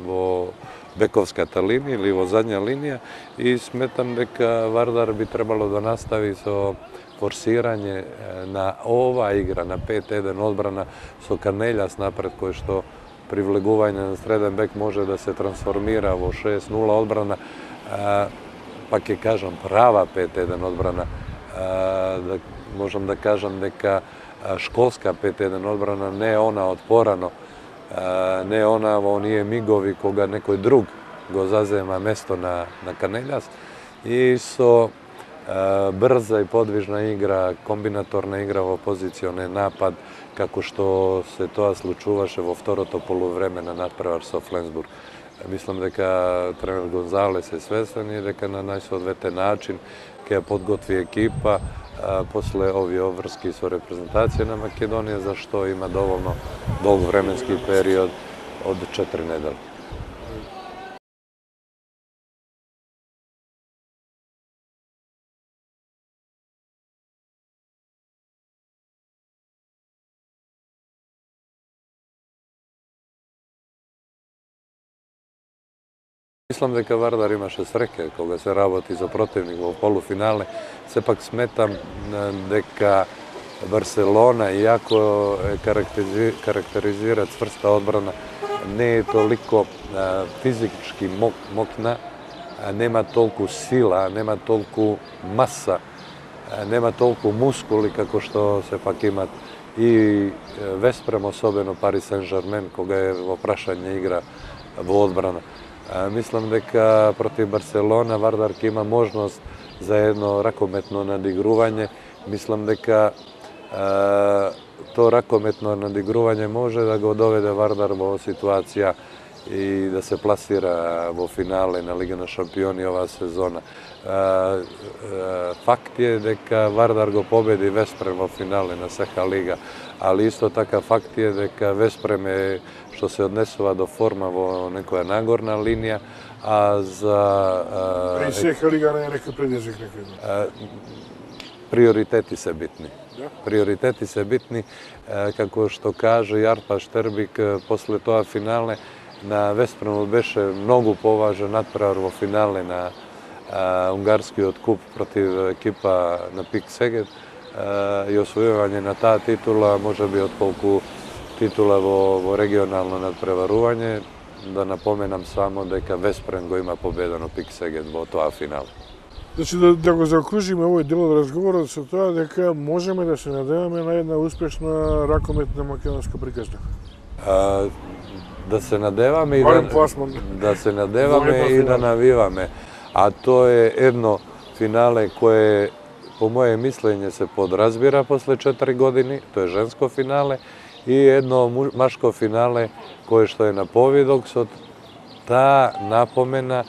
vo bekovska ta linija ili vo zadnja linija i smetam deka Vardar bi trebalo da nastavi so forsiranje na ova igra, na pet jedan odbrana, so Karneljas napred koji što privleguvanje na sredan bek može da se transformira vo šest nula odbrana, pak je kažem prava pet jedan odbrana, da možem da kažem deka školska pet jedan odbrana, ne ona otporano, ne ona, ovo nije migovi koga nekoj drug go zazema mesto na, na Karneljas i so brza i podvižna igra, kombinatorna igra vo pozicione napad, kako što se to slučuvaše vo vtoroto poluvremena nadprevar so Flensburg. Mislim deka trener Gonzales je svestan i deka na najsodvete način kada podgotvi ekipa posle ovi ovrski su reprezentacije na Makedonije, za što ima dovoljno dug vremenski period od četiri nedelje. Mislim deka Vardar imaše sreke koga se raboti za protivnik u polufinale. Sepak smetam deka Barcelona, iako karakterizira cvrsta odbrana, ne je toliko fizički mokna, nema toliko sila, nema toliko masa, nema toliko muskuli kako što se pak ima i Vesprem, osobeno Paris Saint-Germain, koga je oprašanje igra vo odbrana. Mislim deka protiv Barcelona Vardar ima možnost za jedno rakometno nadigruvanje. Mislim deka to rakometno nadigruvanje može da go dovede Vardar vo situacija i da se plasira vo finale na Liga na šampioni ova sezona. Fakt je deka Vardar go pobedi Vesprem vo finale na Seha Liga, ali isto taka fakt je deka Vesprem je što se odnesova do forma vo nekoja nagorna linija, a za... Pri Seha Liga ne je neka predjezik nekada. Prioriteti se bitni. Prioriteti se bitni, kako što kaže Jarpa Šterbik, posle toga finale na Vespremu beše mnogo považen nadprevar vo finale na ungarski otkup protiv ekipa na Pik Seget i osvojivanje na ta titula može bi od koliko titula vo regionalno nadprevaruvanje. Da napomenam samo deka Vesprem go ima pobedano Pik Seget vo toa finale. Значи, да, да го заокружиме овој дел од разговорот со тоа дека можеме да се надеваме на една успешна ракометна македонска приказна. А, да се надеваме и да, да се надеваме и да навиваме. А то е едно финале кое по моje мислење се подразбира после четири години, тоа е женско финале, и едно машко финале кое што е на повидок со таа напомена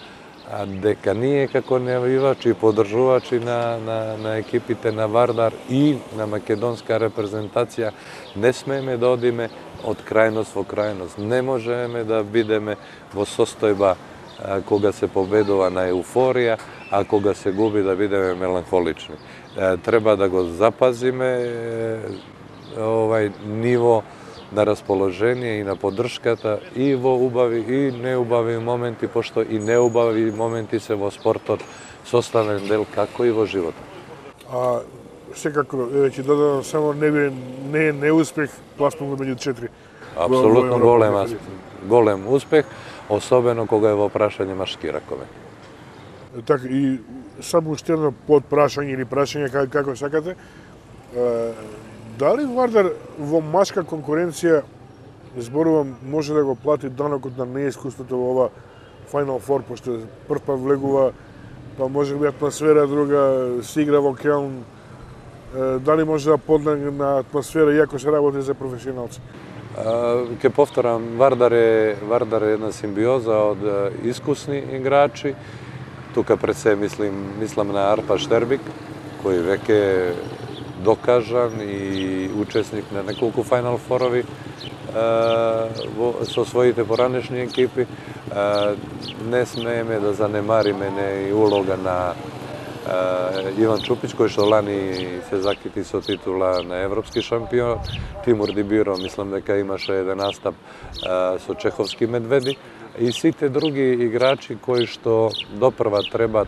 дека ние како навивачи и подржувачи на, на, на екипите на Вардар и на македонска репрезентација не смееме да одиме од крајност во крајност. Не можеме да бидеме во состојба а, кога се победува на еуфорија, а кога се губи да бидеме меланхолични. А, треба да го запазиме овај ниво на расположение и на поддршката и во убави и неубави моменти, пошто и неубави моменти се во спортот составен дел како и во животот. А секако, еве ќе додадам само не би не е неуспех, пласман меѓу четири. Апсолутно голем голем успех, особено кога е во прашање машки ракомет. Така и само уште едно подпрашање или прашање како, како сакате. Дали Вардар во машка конкуренција, зборувам, може да го плати данокот на неискуството во ова Final Four, пошто прв пат влегува, па може би атмосфера друга, се игра во Келн, дали може да поднеме на атмосфера иако се работи за професионалци? Ке повторам, Вардар е, Вардар е една симбиоза од искусни играчи. Тука пред се мислим, мислам на Арпа Штербик, кој веќе докажан и учесник на неколку Final Four-ови со своите поранешни екипи. Не смееме да занемариме не и улога на Иван Чупич, кој што лани се закити со титула на европски шампион. Тимур Дибиро, мислам дека имаше еден настап со чеховски медведи. И сите други играчи кои што допрва треба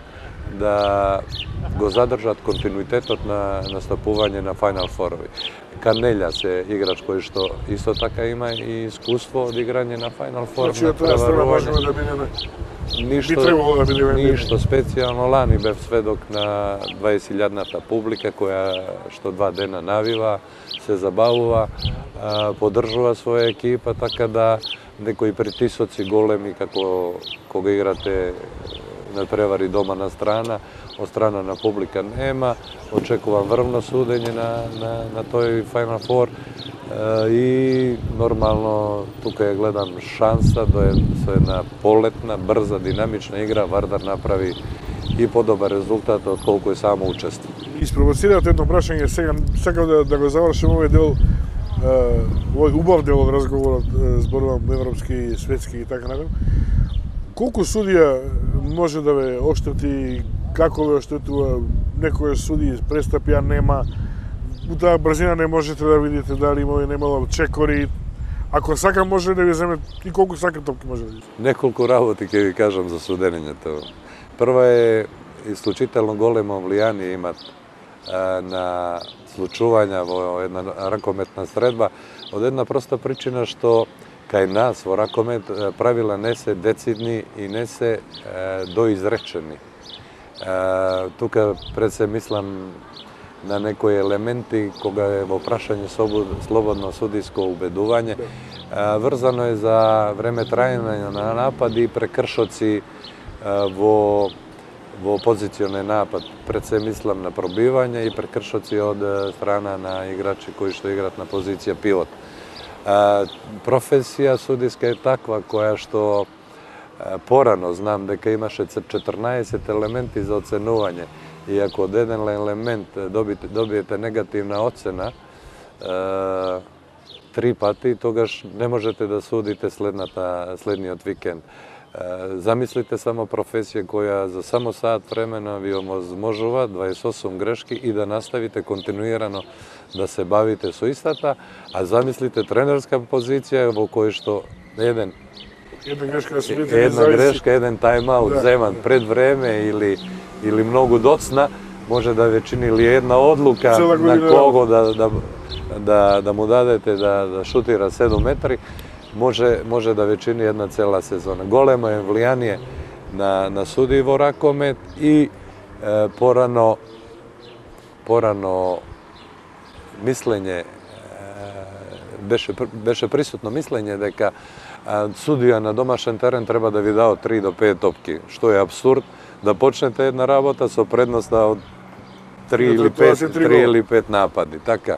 да го задржат континуитетот на настапување на Final Four-ови. Канелја се играч кој што исто така има и искуство од играње на Final Four. Значи, тоа страна можеме да бидеме. Ништо, да бидеме. Ништо специјално, лани бев сведок на дваесет илјадната публика која што два дена навива, се забавува, поддржува своја екипа, така да некои притисоци големи како кога играте на превари дома на страна, од страна на публика нема. Очекувам врвно судење на, на, на тој Final Four и нормално тука ја гледам шанса да со една полетна, брза, динамична игра Вардар направи и подобар резултат од колку е само учество. Испровоцирате едно прашање сега, сакам да, да го завршим овој дел, овој убав дел од разговорот, зборувам европски, светски и така натаму. Колку судија може да ве оштети, како ве оштетува, некој суди престапи, а нема, у таа брзина не можете да видите дали има и немало чекори, ако сака може да ви земе и колку сака топки може да ви. Неколку работи ќе ви кажам за судењето. Прва е исклучително големо влијание имат на случувања во една ракометна средба, од една проста причина што кај нас во ракомет правила не се децидни и не се доизречени. Тука пред се мислам на некои елементи кога е во прашање слободно судиско убедување. Врзано е за време трајање на напади и прекршоци во во позиционен напад. Пред се мислам на пробивање и прекршоци од страна на играчи кои што играат на позиција пивот. Професија судиска е таква која што порано знам дека имаше четрнаесет елементи за оценување и ако од еден елемент добиете, добиете негативна оцена три пати, тогаш не можете да судите следната, следниот викенд. Замислите само професија која за само саат времена ви овозможува дваесет и осум грешки и да наставите континуирано да се бавите со истата, а замислите тренерска позиција во која што еден Една грешка, да судите, една грешка, еден тайм-аут да, земан да. пред време или или многу доцна може да ве чини или една одлука на кого да да да да му дадете да да шутира седум метри. Може, може да ве чини една цела сезона. Големо е влијание на, на суди во ракомет и е, порано, порано мислење, е, беше, беше присутно мислење дека е, судија на домашен терен треба да ви дао три до пет топки, што е абсурд да почнете една работа со предноста од три или пет, три или пет напади. Така,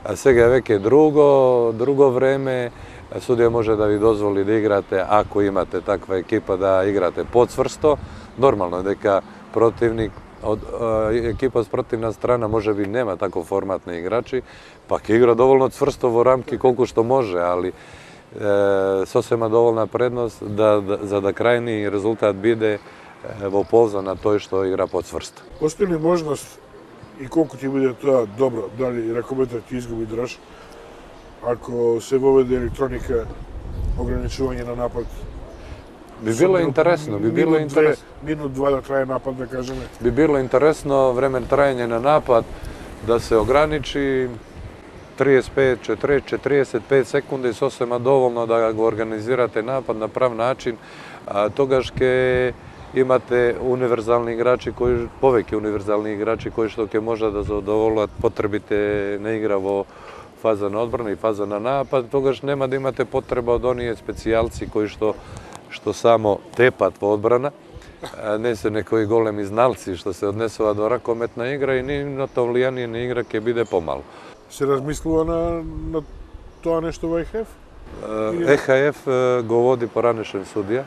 а сега веќе друго, друго време, судија може да ви дозволи да играте, ако имате таква екипа, да играте подсврсто. Нормално е дека противник, од екипа с противна страна може би нема таков формат на играчи, па ќе игра доволно цврсто во рамки колку што може, али е, сосема доволна предност да, да, за да крајни резултат биде е, во полза на тој што игра подсврсто. Постои ли можност и колку ќе биде тоа добро, дали ракометот ќе изгуби држ, ако се воведе електроника, ограничување на напад? Би било интересно, би било интересно. Минут два да трае напад, да кажеме. Би било интересно време трајање на напад да се ограничи триесет пет, четиридесет, четиридесет пет секунди сосема доволно да го организирате напад на прав начин, а тогаш ќе имате универзални играчи кои повеќе универзални играчи кои што ќе можат да задоволат потребите на игра во фаза на одбрана и фаза на напад, тогаш нема да имате потреба од оние специјалци кои што што само тепат во одбрана, не се некои големи зналци што се однесува до ракометна игра и нивното влијание на игра ќе биде помало. Се размислува на, на тоа нешто во Е Х Ф? Е Х Ф го води поранешен судија.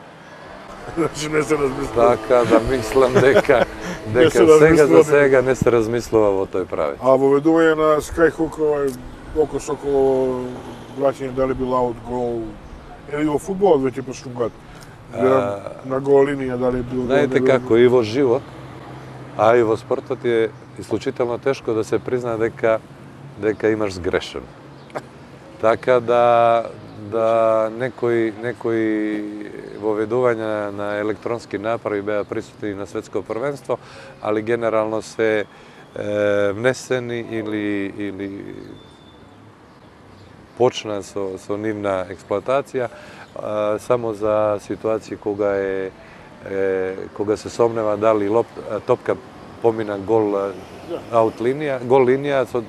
Значи не се размислува. Така да мислам дека дека сега за сега не се размислува во тој правец. А воведување на Skyhook, овај око соколово враќање дали бил аут гол или во фудбалот веќе пошугат. На гол линија дали бил. Знаете како и во живот, а и во спортот е исклучително тешко да се призна дека дека имаш сгрешен. Така да да некои некои воведувања на електронски направи беа присутни на светско првенство, али генерално се е, внесени или или почна со со нивна експлоатација а, само за ситуации кога е, е кога се сомнева дали лоп, топка помина гол аут линија, гол линија со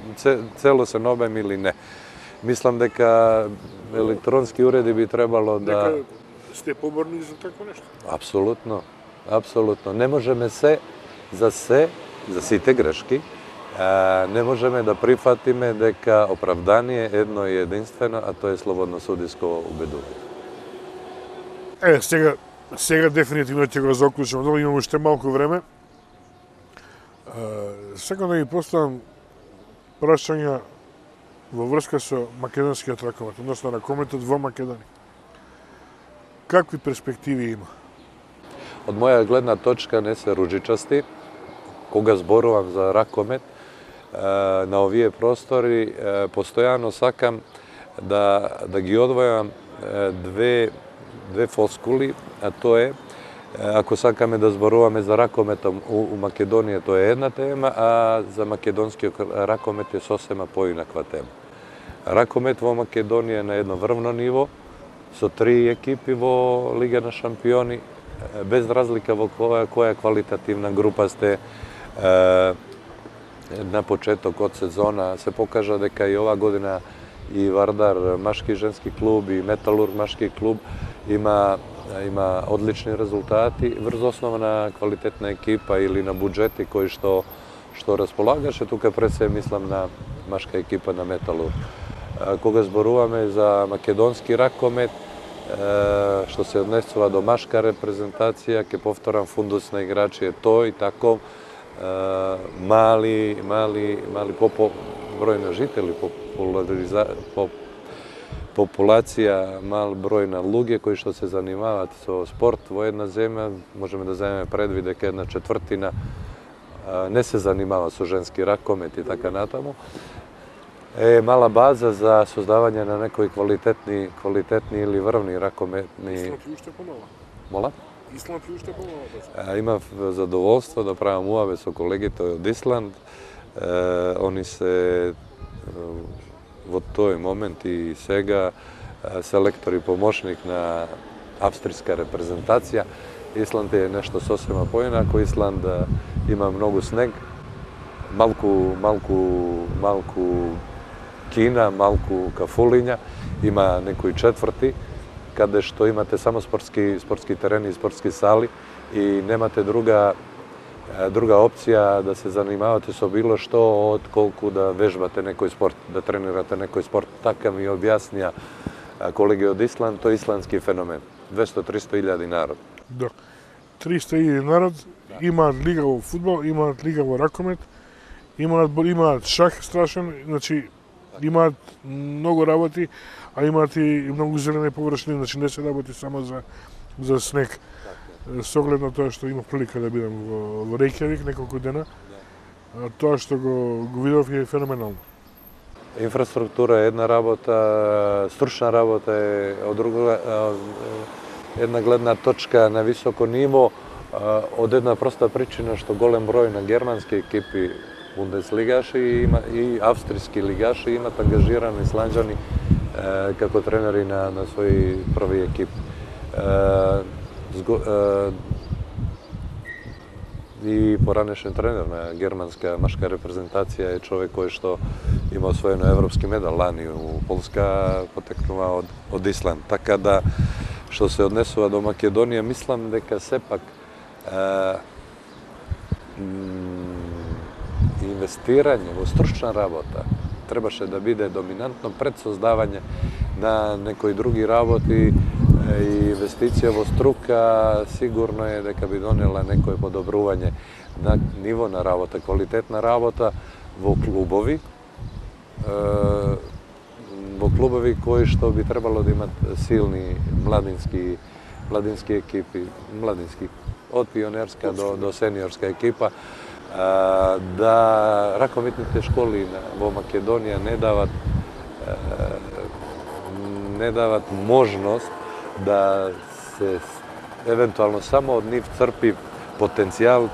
целосен обем или не. Мислам дека електронски уреди би требало да... Дека сте поборни за такво нешто? Апсолутно, апсолутно. Не можеме се, за се, за сите грешки, а, не можеме да прифатиме дека оправдание едно и единствено, а тоа е слободно судиско убедување. Е, сега, сега дефинитивно ќе го заклучам, но имам уште малку време. Сакам да ги поставам прашања во врска со македонскиот ракомет, односно ракометот во Македонија. Какви перспективи има? Од моја гледна точка не се руџичасти. Кога зборувам за ракомет на овие простори, постојано сакам да да ги одвојам две две фоскули, а тоа е ако сакаме да зборуваме за ракометом у, у Македонија, тоа е една тема, а за македонскиот ракомет е сосема поинаква тема. Ракомет во Македонија е на едно врвно ниво, со три екипи во Лига на шампиони, без разлика во која, која квалитативна група сте. На почеток од сезона се покажа дека и ова година и Вардар машки и женски клуб и Металург машки клуб има има одлични резултати врз основа на квалитетна екипа или на буџети кои што што располагаше. Тука пред се мислам на машка екипа на Металург. Кога зборуваме за македонски ракомет, што се однесува до машка репрезентација, ќе повторам, фундус на играчи е тој таков, мали мали мали попо број на жители, популариза по популација, мал број на луѓе кои што се занимаваат со спорт во една земја, можеме да земеме предвид дека една четвртина не се занимава со женски ракомет и така натаму. Е мала база за создавање на некои квалитетни квалитетни или врвни ракометни. Исланд и уште помала. Мола? Исланд и уште помала. Имав задоволство да правам уаве со колегите од Исланд. Они се во тој момент и сега селектор и помошник на австријска репрезентација. Исланд е нешто сосема поинако. Исланд има многу снег, малку малку малку кина, малку кафулиња, има некои четврти каде што имате само спортски спортски терени и спортски сали и немате друга друга опција да се занимавате со било што отколку да вежбате некој спорт, да тренирате некој спорт. Така ми објаснија колеги од Исланд, тој исландски феномен. двесто до триста илјади народ. Да. триста илјади народ, да. Имаат лига во фудбал, имаат лига во ракомет, имаат имаат шах страшен, значи имаат многу работи, а имаат и многу зелени површини, значи не се работи само за за снег. Со оглед на тоа што имав прилика да бидам во, во Рејкјавик неколку дена, да. Тоа што го, го видов е феноменално. Инфраструктура е една работа, стручна работа е од друга, една гледна точка на високо ниво од една проста причина што голем број на германски екипи бундеслигаши и, има, и австријски лигаши имат ангажирани исланџани како тренери на, на своји први екип. Зго, и поранешен тренер на германска машка репрезентација е човек кој што има освоено европски медал лани у Полска, потекнува од, од Исланд. Така да, што се однесува до Македонија, мислам дека сепак е, инвестирање во стручна работа требаше да биде доминантно пред создавање на некои други работи и инвестиција во струка сигурно е дека би донела некое подобрување на ниво на работа, квалитетна работа во клубови, во клубови кои што би требало да имат силни младински младински екипи, младински од пионерска до до сениорска екипа, да ракометните школи во Македонија не дават не дават можност да се евентуално само од нив црпи потенцијал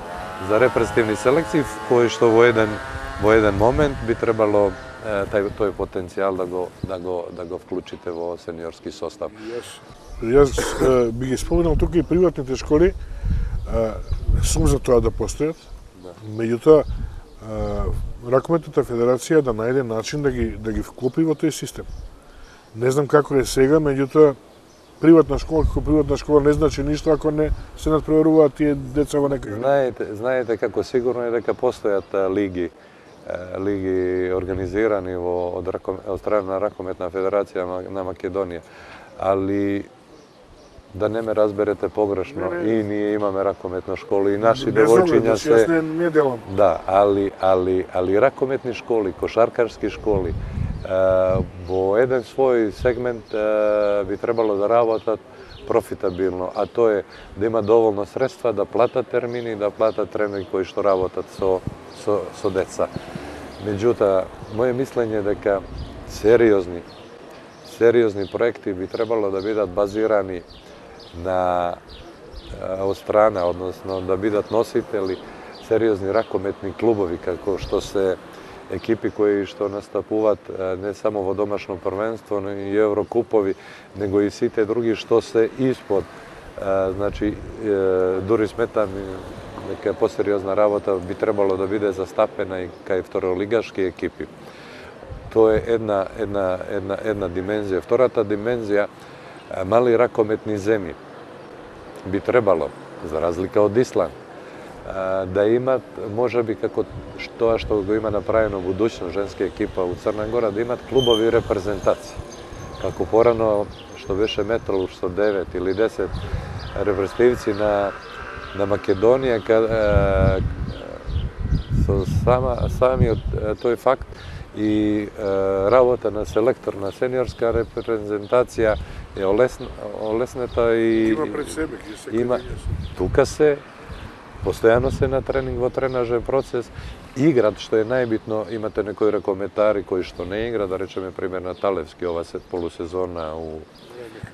за репрезентативни селекции кои што во еден во еден момент би требало тај тој потенцијал да го да го да го вклучите во сениорски состав. Јас, јас би ги споменал тука и приватните школи, сум за тоа да постојат. Да. Меѓутоа ракометната федерација да најде начин да ги да ги вклопи во тој систем. Не знам како е сега, меѓутоа приватна школа како приватна школа не значи ништо ако не се надпреваруваат тие деца во некај. Знаете, знаете како сигурно е дека постојат лиги лиги организирани во од, од страна на ракометна федерација на Македонија, али да не ме разберете погрешно, не, не. И ние имаме ракометна школа и наши девојчиња се не, не делам. Да, али али али ракометни школи, кошаркарски школи во еден свој сегмент би требало да работат профитабилно, а тоа е да има доволно средства да платат термини, да платат тренери кои што работат со со со деца. Меѓутоа, моје мислење е дека сериозни сериозни проекти би требало да бидат базирани на од страна, односно да бидат носители сериозни ракометни клубови како што се екипи кои што настапуваат не само во домашно првенство, но и еврокупови, него и сите други што се испод. Значи, дури сметам дека посериозна работа би требало да биде застапена и кај второлигашки екипи. Тоа е една една една една димензија. Втората димензија, мали ракометни земји би требало, за разлика од Исланд, да имат, можеби како тоа што го има направено будуќно женска екипа у Црна Гора, да имат клубови репрезентации. Како порано што беше Металург со девет или десет репрезентативци на на Македонија, каде со сама самиот тој факт и работа на селектор на сениорска репрезентација е олесна, олеснета и има пред себе ги се има тука се постојано се на тренинг во тренажен процес, играт, што е најбитно, имате некои ракометари кои што не игра, да речеме пример на Талевски ова се полусезона у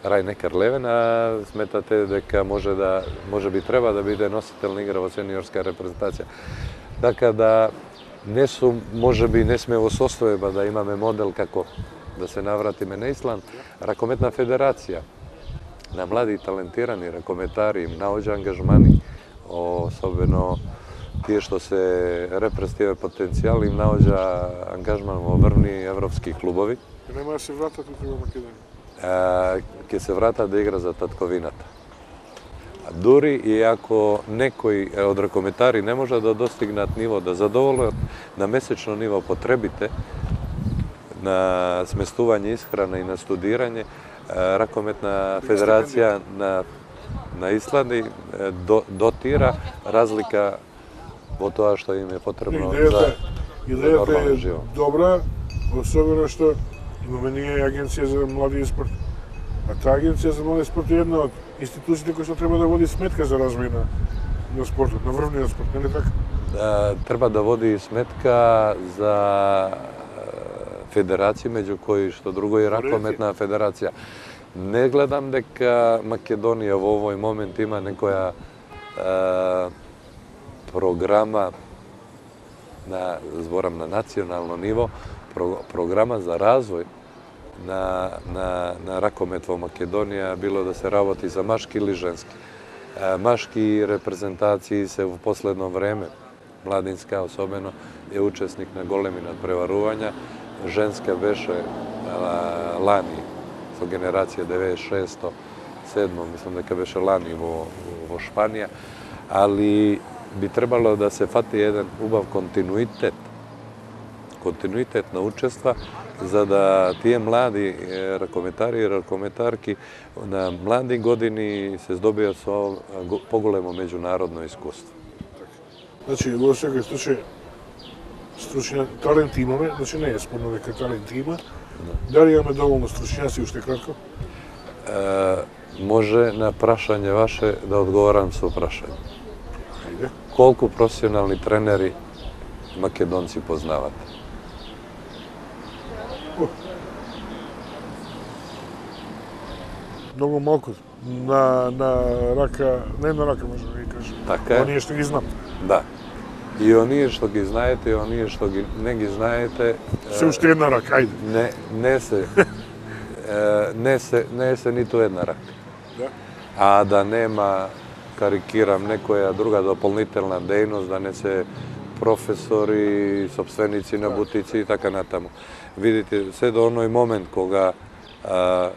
Рајнекар Левен, а сметате дека може да може би треба да биде носител на игра во сениорска репрезентација. Така да не сум, може би не сме во состојба да имаме модел како да се навратиме на Исланд. Ракометна федерација на млади и талентирани ракометари им наоѓа ангажмани, особено тие што се репрезентативен потенцијал, им наоѓа ангажман во врвни европски клубови. Нема да се вратат во Македонија. Ќе се вратат да игра за татковината. Дури и ако некои од ракометари не може да достигнат ниво да задоволат на месечно ниво потребите на сместување, исхрана и на студирање, ракометна федерација на на Исланд до, дотира разлика во тоа што им е потребно за идејата е добра, особено што имаме ние агенција за млади и спорт. А таа агенција за млади и спорт е една од институциите кои што треба да води сметка за развој на, на спортот, на врвниот спорт, нели така? Да, треба да води сметка за федерации, меѓу кои што друго и ракометна федерација. Не гледам дека Македонија во овој момент има некоја е, програма на, зборам на национално ниво, про, програма за развој на, на, на ракомет во Македонија, било да се работи за машки или женски. Е, машки репрезентации се во последно време, младинска особено, е учесник на големи надпреварувања. Женска беше а, лани, со генерација деветдесет и шесто седмо, мислам дека беше лани во, во Шпанија, али би требало да се фати еден убав континуитет, континуитет на учества, за да тие млади ракометари и ракометарки на млади години се здобијат со поголемо меѓународно искуство. Значи, во секој случај, стручња, талент имаме, значи не е спорно дека талент има. Дали имаме доволно стручњаци, уште кратко? Е, може на прашање ваше да одговорам со прашање. Ајде. Колку професионални тренери македонци познавате? Многу малку. На, на рака, не на рака може да ги кажем. Така е. Оние што ги знам. Да. И оние што ги знаете, и оние што ги, не ги знаете... Се уште една рака, ајде. Не, не се, не се, не се ниту една рака. Да? А да нема, карикирам, некоја друга дополнителна дејност, да не се професори, собственици на бутици и така натаму. Видите, се до оној момент кога а,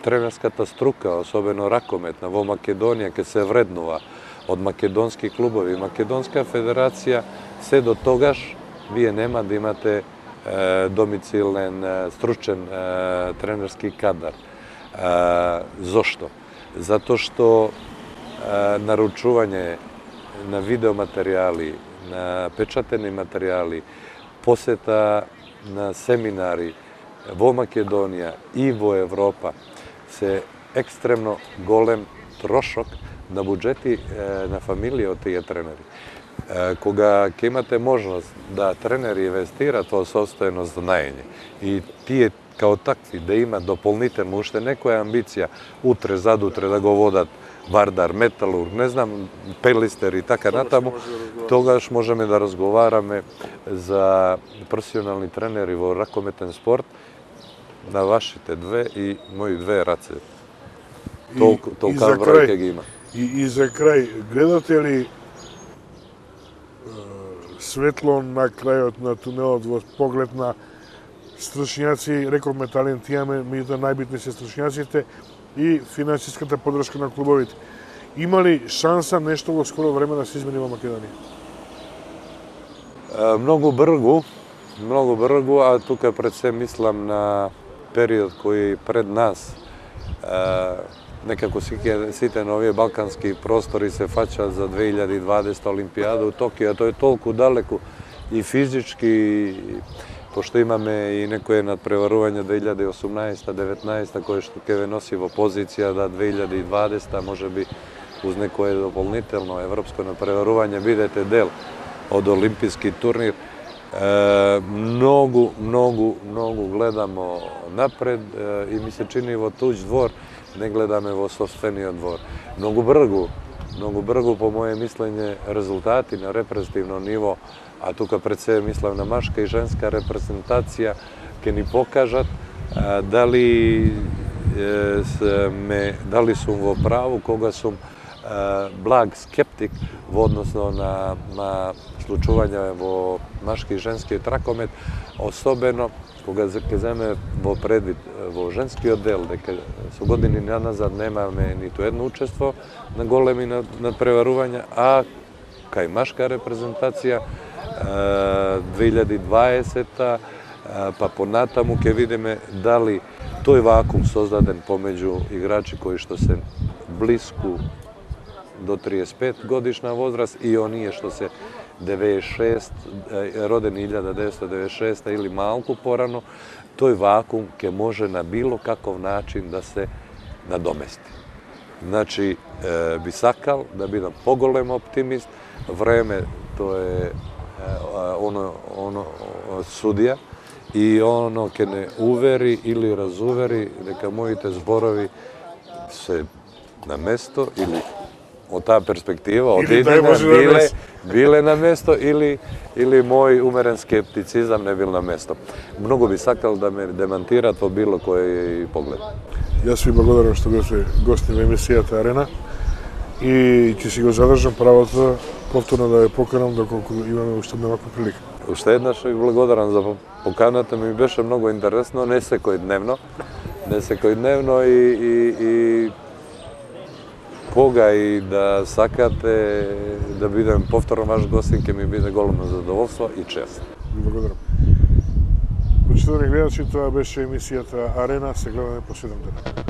тренерската струка, особено ракометна, во Македонија ќе се вреднува од македонски клубови, Македонска федерација, се до тогаш вие нема да имате е, домицилен, е, стручен е, тренерски кадар. Е, зошто? Затоа што е, наручување на видеоматеријали, на печатени материјали, посета на семинари во Македонија и во Европа се екстремно голем трошок на буџети на фамилија од тие тренери. Кога ќе имате можност да тренери инвестират во собствено знаење и тие као такви да имат дополнително уште некоја амбиција утре, задутре да го водат Вардар, Металург, не знам, Пелистер и така натаму, тогаш можеме да разговараме за професионални тренери во ракометен спорт на вашите две и мои две раце. Толку, толка број ќе ги има. И, и за крај, гледате ли е, светло на крајот на тунелот во поглед на стручњаци, рековме талент имаме, меѓутоа најбитни се стручњаците и финансиската поддршка на клубовите. Има ли шанса нешто во скоро време да се измени во Македонија? Е, многу бргу, многу бргу, а тука пред се мислам на период кој пред нас. Е, Некако сите на овие балкански простори се фаќаат за две илјади и дваесета Олимпијада у Токио, тоа е толку далеку и физички, пошто имаме и некое надпреварување две илјади и осумнаесета деветнаесета кое што ќе ве носи во позиција да две илјади и дваесета можеби уз некое дополнително европско надпреварување бидете дел од олимписки турнир. Е, многу, многу, многу гледамо напред е, и ми се чини во туѓ двор, не гледаме во собствениот двор. Многу бргу, многу бргу по моје мислење резултати на репрезентативно ниво, а тука пред себе мислам на машка и женска репрезентација, ќе ни покажат а, дали е, сме, дали сум во праву кога сум а, благ скептик во односно на, на случување во машки и женскиот ракомет, особено кога ќе земе во предвид во женскиот дел, дека со години назад немаме ниту едно учество на големи надпреварувања, а кај машка репрезентација две илјади и дваесета па понатаму ќе видиме дали тој вакуум создаден помеѓу играчи кои што се блиску до триесет и пет годишна возраст и оние што се деветдесет и шест, родени илјада деветстотини деветдесет и шеста или малку порано, тој вакуум ќе може на било каков начин да се надомести. Значи, е, би сакал да бидам поголем оптимист, време тоа е, е оно, оно судија и оно ке не увери или разувери дека моите зборови се на место или од таа перспектива, од едина биле, биле на место или, или мој умерен скептицизам не бил на место. Многу би сакал да ме демантират во било кој поглед. Јас ви благодарам што беше гостин во емисијата Арена и ќе си го задржам правото повторно да ја поканам доколку имаме уште една ваква прилика. Уште еднаш ви благодарам за поканата, ми беше многу интересно, не секојдневно, не секојдневно и, и, и кога и да сакате да бидем повторно ваш гостин, ќе ми биде големо задоволство и чест. Ви благодарам. Почитувани гледачи, тоа беше емисијата Арена, се гледаме по седум дена.